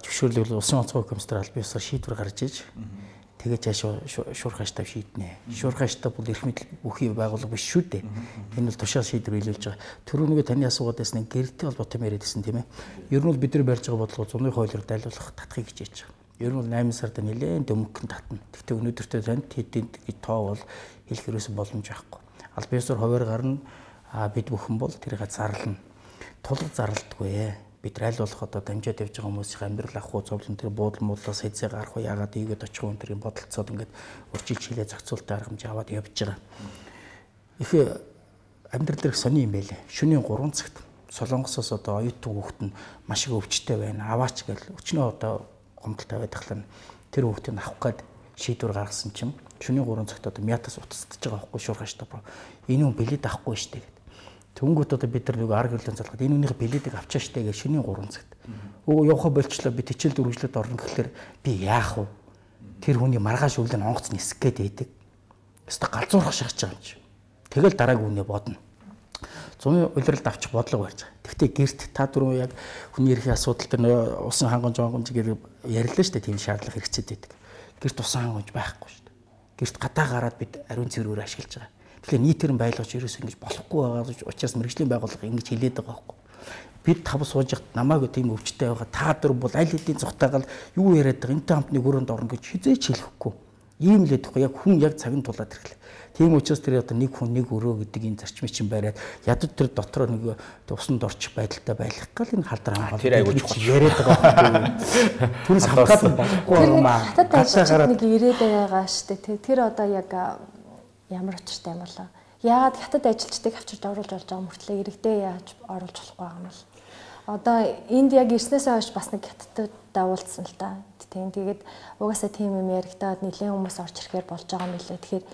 зөвшөөрлөл улсын онцгой комиссар аль биесээр шийдвэр гаргаж иж тэгээ цааш шуурхааштай шийднэ. Шуурхааштай бол эрх мэдэл бүхий байгууллага биш шүү дээ. Энэ бол тушаал шийдвэр хэлүүлж байгаа. Түрүү нэг таны асуугаад байсан гэрэлтэй холбоотой яриад байсан тийм ээ. Ер нь бол бид нар барьж байгаа бодлого зуны хуулиар дайлуулах татхыг хичээж байгаа. Ер нь бол 8 сард нэлээд өмгөн татна. Гэхдээ өнөөдөртөө танд хэдийн тоо бол хэлэх ерөөсөн боломж байхгүй. Аль биесээр хуваар гарна бид бүхэн бол тэрийг зарлана. Тулг зарлдаггүй. Бид аль болох одоо дамжаад явж байгаа хүмүүсийн амьдрал авах уу, зовлон тэр буудлын муудлаас хэзээ гарах уу, яагаад ийгээд очих уу тэрийн бодолцоод ингээд үржилж хилээ зохицуултын арга хэмжээ аваад явж байгаа. Их амьдрал дээр сони юм байлээ. Шөнийн 3 цагт Солонгосоос одоо оюутан хүүхэд нь маш их өвчтэй байна. Аваач гэл өчнөө одоо гомдол тавиад тахлаа тэр хүүхдийг авах гээд шийдвэр гаргасан чинь шөнийн 3 цагт одоо Мятаас утасдаж байгаа байхгүй шуурхааштай бро. Энэ хүн билет авахгүй штэ гэдэг. Тэнгүүт одоо бид нар нэг арга хэмжээ залгаад энэ үнийхээ билетийг авчаа штэ гэж шөнийн 3 цагт. Өө явахаа болчлоо би хичээл дөрвөлжлөд орно гэхэлэр би яах вэ? Тэр хүний маргааш өглөө онгоц нисэх гээд байдаг. Өстө галзуурах шахаж байгаа юм чи. Тэгэл дараагийн үнэ бодно. Зуны улиралд авчих бодлого барьж байгаа. Гэхдээ гэрт та дөрөв яг хүний эрхийн асуудал дээр усан хангамж гэр яриллаа штэ тийм шаардлага хэрэгцээд байдаг. Гэрт усан хангамж байхгүй штэ. Гэрт гадаа гараад бид ариун цэврээр ашиглаж байгаа. Тэгэхээр нийтээр нь байлгаж ерөөс ингэж болохгүй байгаа учраас мэрэгжлийн байгууллага ингэж хэлээд байгаа байхгүй. Бид тав сууж яхад намайг тийм өвчтэй байгаа та дөр бол аль хэдийн цухтаагаал юу яриад байгаа энтэй хамтны өрөөнд орно гэж хизээч хэлэхгүй. Ийм л дэхгүй яг хүн яг цаг нь тулаад ирэхлээ. Тийм учраас тэр одоо нэг хүн нэг өрөө гэдэг энэ зарчмыг чинь бариад ядад тэр дотор нэг усанд орчих байдалтай байх гал энэ халдвар хамгаалалт тэр айгуу чухал яриад байгаа. Түнс хамгаалсан болохгүй юм аа. Хатад нэг ирээд байгаа штэ. Тэр одоо яг ямар учиртай юм болоо. Яагаад хятад ажилчдыг авчирч оруулж болж байгаа мөртлөө иргэдээ яаж оруулж болохгүй байгаа юм бол. Одоо энд яг ирснээсээ хойш бас нэг хятадтай уулзсан л та. Тэгээд угаасаа тийм юм яригадаад нэлээд хүмүүс орж ирэхээр болж байгаа юм билээ. Тэгэхээр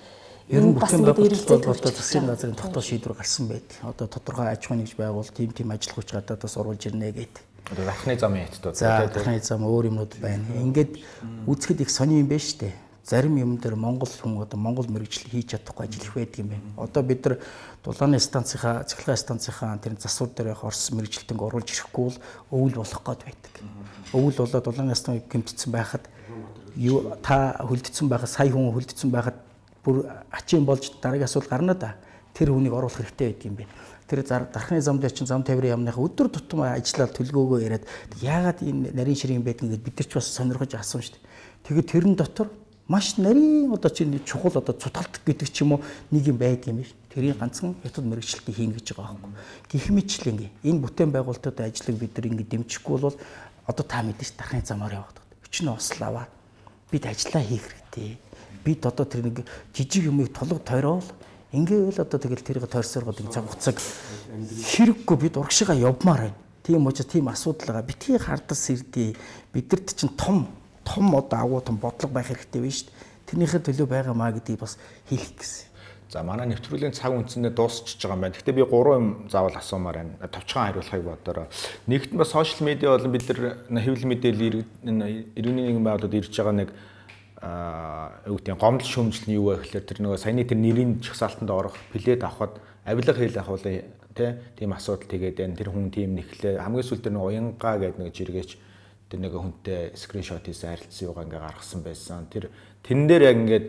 ер нь бас нэг эргэлзээ засгийн газрын тогтоол шийдвэр гарсан байдаг. Одоо тодорхой аж ахуйн нэгж байгуул тийм ажил хүч гадаадаас оруулж ирнэ гэдэг. Одоо дахны замын хэцүүд. За дахны зам өөр юмнууд байна. Ингээд үзэхэд их сони юм байна шүү дээ. Зарим юм дээр Монгол хүн одоо Монгол мэргэжил хийж чадахгүй ажил их байдаг юм байна. Одоо бид нар дулааны станцынхаа, цахилгаан станцынхаа тэр засвар дээр явах Орос мэргэжилтэнг оруулж ирэхгүй бол өвөл болох гээд байдаг. Өвөл болоод дулааны станцыг гэмтсэн байхад та хөлдсөн байхад сая хүн хөлдсөн байхад бүр ачин болж дараагийн асуудал гарна да. Тэр хүнийг оруулах хэрэгтэй байдаг юм байна. Тэр дархны зам дээр чинь зам тавирын яамныхаа өдөр тутам ажиллаад төлгөөгөө яриад яагаад энэ нарийн ширийн байдгийг бид нар ч бас сонирхож асуусан шүү дээ. Тэгээд тэрэн дотор маш нарийн одоо чинь чухал одоо цутгалт гэдэг ч юм уу нэг юм байдаг юм биш. Тэрийг ганцхан хятад мэргэжилтийг хийн гэж байгаа байхгүй. Гэх мэтлээ ингээ энэ бүтээн байгуулалтад ажлыг бид нар ингээ дэмжихгүй бол одоо та мэдээж дархны замаар яваад байгаа. Өчнө осл аваад бид ажиллаа хийх хэрэгтэй. Бид одоо тэр нэг жижиг юмыг тулга тойрол ингээл одоо тэгэл тэрийг тойрсооргоод ингэ цаг хугацааг хэрэггүй бид урагшигаа явмаар байна. Тийм учраас тийм асуудал байгаа. Битгий хардас ирдээ. Бидэрт чинь том одоо агуу том бодлого байх хэрэгтэй байна шүү дээ. Тэрнийхээ төлөө байгаамаа гэдгийг бас хэлэх гэсэн. За манай нэвтрүүлгийн цаг үндсэндээ дуусчихж байгаа юм байна. Гэхдээ би 3 юм заавал асуумаар байна. Товчхон хариулахыг бодороо. Нэгт нь бас сошиал медиа болон бид нар хэвлэл мэдээлэл иргэний нэгэн байгууллагад ирж байгаа нэг юу гэдэг гомдол шүүмжлэл нь юу вэ гэхээр тэр нөгөө саяны тэр нэрийн жагсаалтанд орох плед авахд авилга хийх ахвал тийм асуудал тэгээд байна. Тэр хүн тийм нэхлээ хамгийн сүүл тэр нэг уянгаа гэдэг нэг жиргээч тэр нэг хүнтэй скриншот хийсэн харилцсан юугаа ингээ гаргасан байсан. Тэрэн дээр яг ингээд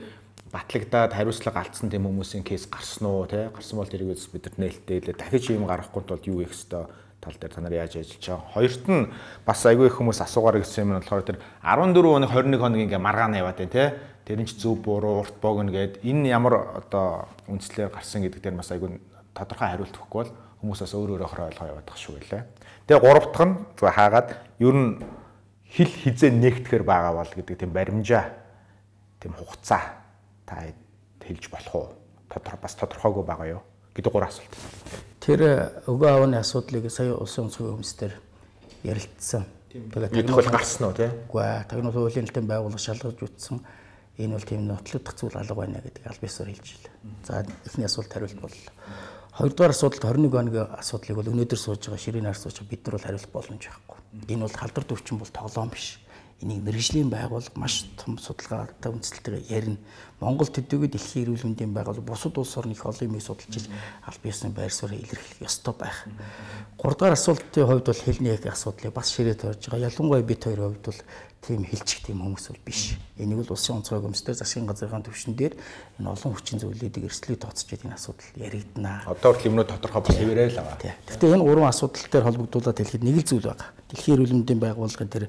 батлагдаад хариуцлага алдсан тийм хүмүүсийн кейс гарсан уу те гарсан бол тэрийг бид нар нээлттэй дахиж юм гаргахгүй тулд юу хийх ёстой тал дээр та нар яаж ажиллаж байгаа. Хоёрт нь бас айгүй их хүмүүс асуугаар гэсэн юм нь болохоор тэр 14 оны 21 хоног ингээ маргаана яваад байна те. Тэр нь ч зөв буруу урт богино гэд энэ ямар одоо үндслээр гарсан гэдэг дээр бас айгүй тодорхой хариулт өгөхгүй бол хүмүүс бас өөр өөрөөр ойлгоо яваад байгаа шүү гэлээ. Тэгээ гурав дахь нь зөв хаагаад ер нь хил хизээ нэгтгэхэр байгаа бол гэдэг тийм баримжаа тийм хугацаа та хэлж болох уу? Тодорхойгүй байгаа юу? Гэдэг 3 асуулт. Тэр өгөө аавны асуудлыг сая улсын онцгой комиссээр ярилцсан. Тэгээд тагнуул гарсан уу тий? Үгүй ээ, тагнуул хуулийн хэлтэн байгууллага шалгаж үтсэн. Энэ бол тийм нотлогдох зүйл алга байна гэдэг аль биесээр хэлж илээ. За эхний асуулт хариулт боллоо. Хоёрдугаар асуудалд 21 оны асуудлыг бол өнөөдөр сууж байгаа ширийн нар сууж бид нар бол хариулах боломж байхгүй. Энэ бол халдвар төвчин бол тоглоом биш. Энийг мэргэжлийн байгууллага маш том судалгаатай үндэслэлтэйгээр ярина. Монгол төдийгүй дэлхийн эрүүл мэндийн байгууллага бусад улс орны их олон юмыг судалж аль биесийн байр суурийг илэрхийлэх ёстой байх. 3 дахь асуултын хувьд бол хэлний асуудлыг бас ширээ тойрж байгаа. Ялангуяа бид хоёрын хувьд бол тийм хэлчих тийм хүмүүс бол биш. Энийг бол улсын онцгой комиссээр засгийн газрын түвшин дээр энэ олон хүчин зүйлүүдийг эрсдлийг тооцож энэ асуудал яригдана. Одоо хүртэл юмнууд тодорхой бас хэвээрээ л байгаа. Гэхдээ энэ 3 асуудал дээр холбогдуулаад хэлэхэд нэг л зүйл байгаа. Дэлхийн эрүүл мэндийн байгууллагын тэр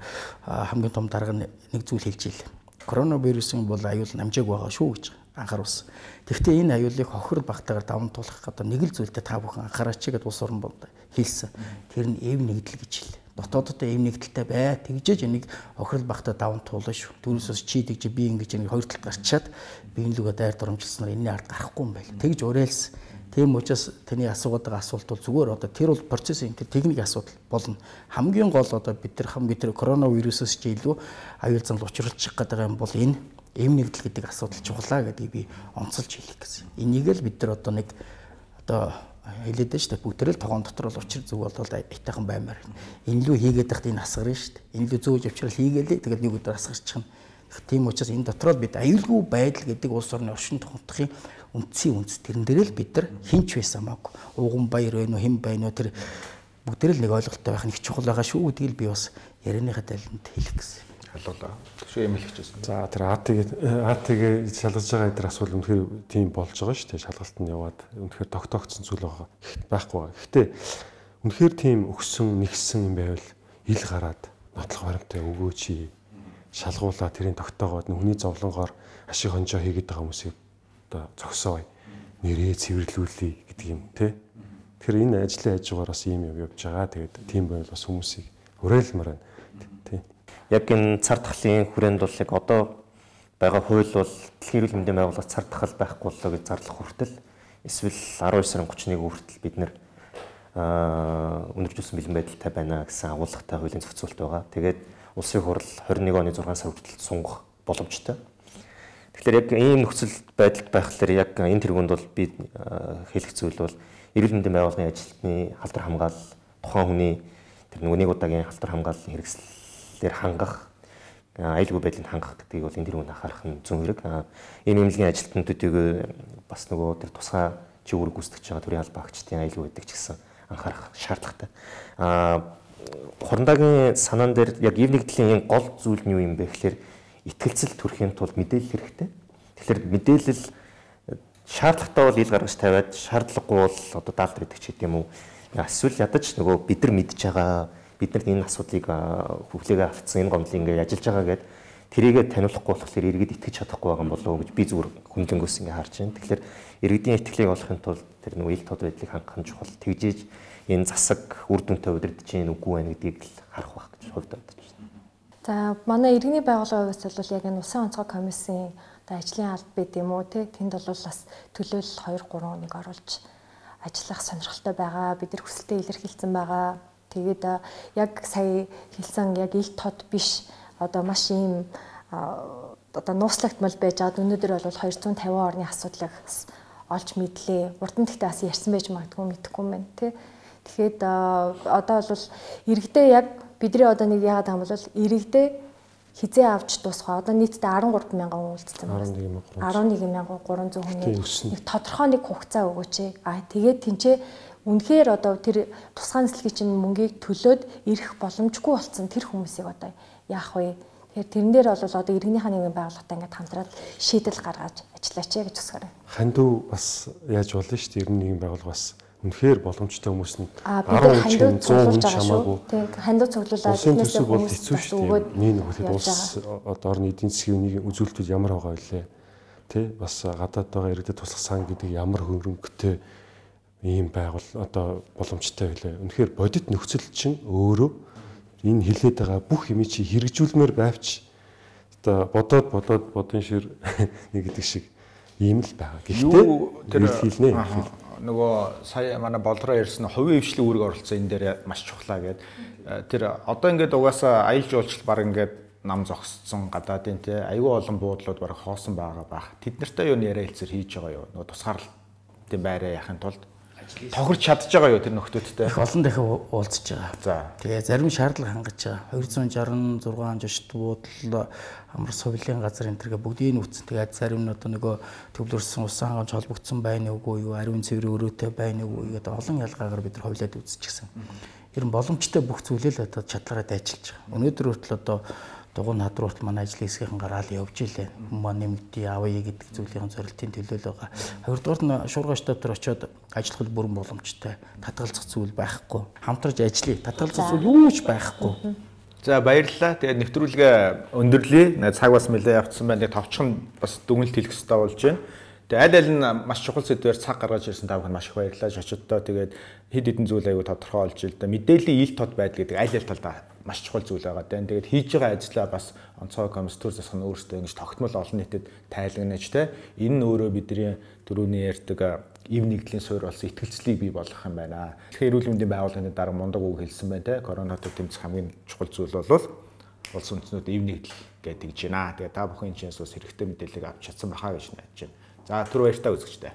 хамгийн том дарга нэг зүйл хэлж ийлээ. Коронавирусын бол аюул намжааг байгаа шүү гэж анхааруулсан. Гэхдээ энэ аюулыг хохирол багтаагаар даван туулах одоо нэг л зүйлтэй та бүхэн анхаараач гэдэг улс орн болд хэлсэн. Тэр нь эв нэгдэл гэж хэлээ. Дотооддоо эв нэгдэлтэй бай. Тэгжээж энийг хохирол багтаа даван туулна шүү. Түүнээс чи тэгж би ингэж нэг хоёр талд гарчаад би энэ лүгэ дайр доромжилснаар энэний ард гарахгүй юм байл. Тэгж уриалсан. Тийм учраас таны асуугаад байгаа асуулт бол зүгээр одоо тэр бол процессын тэр техник асуудал болно. Хамгийн гол одоо бид нар коронавирусээс ч илүү аюул занал учруулчих гэдэг юм бол энэ эм нэгдэл гэдэг асуудал чухлаа гэдгийг би онцолж хэлэх гэсэн. Энийг л бид нар одоо нэг одоо хэлээд байна шүү дээ. Бүгдээрээ л тогоон дотор бол учир зүг болоод айтайхан баймаар. Энэ лүү хийгээд тахт энэ асгарна шүү дээ. Энэ лүү зөөж авчрал хийгээлээ тэгээд нэг өдөр асгарчихна. Тийм учраас энэ дотроо бид аюулгүй байдал гэдэг улс орны оршин тогтнохын үндсийн үндэс тэрэн дээр л бид нар хинч байсан хамаагүй. Ууган баяр байна уу, хэн байна уу тэр бүгдээр л нэг ойлголттой байх нэг чухал байгаа шүү гэдгийг би бас ярианыхаа талд хэлэх гэсэн. Халуулаа. Тэгшээ юм хэлчихсэн. За тэр АТ-г шалгаж байгаа эдгээр асуудал үнэхээр тийм болж байгаа шүү дээ. Шалгалт нь яваад үнэхээр тогтоогдсон зүйл байгаа. Байхгүй байгаа. Гэхдээ үнэхээр тийм өгсөн, нэгсэн юм байвал ил гараад нотлох баримтаа өгөөч. шалгуулаад тэрийг тогтоогоод хүний зовлонгоор ашиг хонжоо хийгээд байгаа хүмүүсийг одоо зогсоо нэрээ цэвэрлүүлээ гэдэг юм тий. Тэгэхээр энэ ажлын хажуугаар бас ийм юм явж байгаа. Тэгээд тийм байвал бас хүмүүсийг уриалмаар байна тий. Яг энэ цар тахлын хүрээнд бол яг одоо байгаа хууль бол дэлхийн эрүүл мэндийн байгууллага цар тахал байхгүй боллоо гэж зарлах хүртэл эсвэл 19 сарын 31-ний хүртэл бид нэр өнөржүүлсэн бэлэн байдалтай байна гэсэн агуулгатай хуулийн зохицуулт байгаа. Тэгээд улсын хурал 21 оны 6 сар хүртэл сунгах боломжтой. Тэгэхээр яг ийм нөхцөл байдалд байхлаар яг энэ тэргуунд бол би хэлэх зүйл бол эрүүл мэндийн байгууллагын ажилтны халдвар хамгаалал, тухайн хүний тэр нэг удаагийн халдвар хамгааллын хэрэгслээр хангах, аюулгүй байдлыг хангах гэдгийг бол энэ тэргуунд анхаарах нь зүүн хэрэг. Энэ эмнэлгийн ажилтнуудыг бас нөгөө тэр тусгай чиглэл гүйцэтгэж байгаа төрийн албан агчдын аюулгүй байдаг ч гэсэн анхаарах шаардлагатай. Хурандагийн санаан дээр яг ив нэгдлийн энэ гол зүйл нь юу юм бэ гэхээр итгэлцэл төрхийн тулд мэдээлэл хэрэгтэй. Тэгэхээр мэдээлэл шаардлагатай бол ил гаргаж тавиад шаардлагагүй бол одоо даалт гэдэг ч гэдэм үү. Эсвэл ядаж нөгөө бид нар мэдж байгаа бид нарт энэ асуудлыг хөвлөөгөө автсан энэ гомдлыг ингээд ажиллаж байгаа гэд тэрийгэ таниулахгүй болохоор иргэд итгэж чадахгүй байгаа юм болов уу гэж би зүгээр хүнлэнгөөс ингээд харж байна. Тэгэхээр иргэдийн итгэлийг олохын тулд тэр нөгөө ил тод байдлыг хангах нь чухал. Тэгжээж энэ засаг үр дүнтэй удирдах чинь үгүй байна гэдгийг л харах байх гэж хувьд бодож байна. За манай иргэний байгууллагын хувьд бол яг энэ Улсын онцгой комиссийн одоо ажлын алба байд юм уу те тэнд бол бас төлөөлөл 2-3 хүнийг оруулж ажиллах сонирхолтой байгаа. Бид нар хүсэлтэд илэрхийлсэн байгаа. Тэгээд яг сая хэлсэн яг ил тод биш одоо маш ийм одоо нууцлагдмал байж байгаа. Өнөөдөр бол 250 орны асуудлыг олж мэдлээ. Урд нь гэхдээ бас ярьсан байж магадгүй мэдэхгүй юм байна тий. Тэгэхэд одоо бол иргэдээ яг бидний одоо нэг яагаад байгаа юм бол иргэдээ хизээ авч дуусгаа. Одоо нийтдээ 13 мянган хүн үлдсэн байна. 11,300 хүний нэг тодорхой нэг хугацаа өгөөч. Тэгээд тэнцээ үнэхээр одоо тэр тусгай нислэгийн чинь мөнгийг төлөөд ирэх боломжгүй болсон тэр хүмүүсийг одоо яах вэ? Тэгэхээр тэрэн дээр бол одоо иргэнийхээ нэгэн байгууллагатай ингээд хамтраад шийдэл гаргаж ажиллаач гэж хүсгээрэй. Хандив бас яаж болно шүү дээ. Иргэн нэгэн байгууллага бас үнэхээр боломжтой хүмүүс нь 10 хүн 100 хүн чамаагүй. Тийм хандив цуглуулаад тэрнээс бол хэцүү шүү дээ. Нэг нөхөд улс одоо орны эдийн засгийн үнийг үзүүлэлтүүд ямар байгаа вэ? Тэ бас гадаад байгаа иргэдэд туслах сан гэдэг ямар хөрөнгөтэй ийм байгуул одоо боломжтой байлаа. Үнэхээр бодит нөхцөл чинь өөрөө энэ хилээд байгаа бүх юм чи хэрэгжүүлмээр байвч одоо бодон шир нэг гэдэг шиг ийм л байгаа. Гэхдээ тэр хэлнэ. Нөгөө сая манай болроо ярьсан хувийн хвшлийн үүрэг оролцсон энэ дээр маш чухлаа гэд. Тэр одоо ингээд угаасаа аялал жуулчлал баг ингээд нам зогссон гадаадын те аюул олон буудлууд баг хоосон байгаа бах. Тэд нартай юу яриа хэлцэр хийж байгаа юу? Нөгөө тусгаарлалтын байраа яхахын тулд тохирч чадж байгаа юу тэр нөхдөөдтэй? Их олон дахин уулзж байгаа. За. Тэгээ зарим шаардлага хангаж байгаа. 266 жишт буудал амар сувилийн газар энэ төргээ бүгдийг нүүцэн. Тэгээд зарим нь одоо нөгөө төвлөрсөн усан хангамж холбогдсон байна уугүй юу, ариун цэврийн өрөөтэй байна уугүй гэдэг олон ялгаагаар бид нар ховлоод үзчихсэн. Ер нь боломжтой бүх зүйлээ л одоо чадлаараа ажиллаж байгаа. Өнөөдөр хүртэл одоо дугуй над руу хүртэл манай ажлын хэсгийн гараал явж илээ. Хүмүүс нэмэгдээ авъя гэдэг зүйлийн зорилтын төлөөлөл байгаа. Хоёрдугаар нь шуургай штаб дээр очиод ажиллах бүрэн боломжтой. Татгалзах зүйл байхгүй. Хамтарч ажиллая. Татгалзах зүйл юу ч байхгүй. За баярлалаа. Тэгээд нэвтрүүлгээ өндөрлөе. Цаг бас нэлээд явцсан байна. Тэгээд товчхон бас дүгнэлт хэлэх хэрэгтэй болж байна. Тэгээд аль аль нь маш чухал сэдвээр цаг гаргаж ирсэн та бүхэн маш их баярлалаа. Шочдоо тэгээд хэд хэдэн зүйл аягүй тодорхой олж ил да. Мэдээллийн ил тод байдал гэдэг аль аль талдаа маш чухал зүйл байгаа даа. Тэгээд хийж байгаа ажлаа бас онцгой комисс төр засах нь өөрөөсөө ингэж тогтмол олон нийтэд тайлагнаж те. Энэ нь өөрөө бидний дөрөвний ярьдаг ив нэгдлийн суурь болсон итгэлцлийг бий болгох юм байна. Тэгэхээр эрүүл мэндийн байгууллагын дараа мундаг үг хэлсэн байна те. Коронавитой тэмцэх хамгийн чухал зүйл бол улс үндэстнүүд ив нэгдэл гэдэг гэж байна. Тэгээд та бүхэн энэ чинээс бас хэрэгтэй мэдээллийг авч чадсан байхаа гэж найдаж байна. За түр баяртай үзэгчтэй.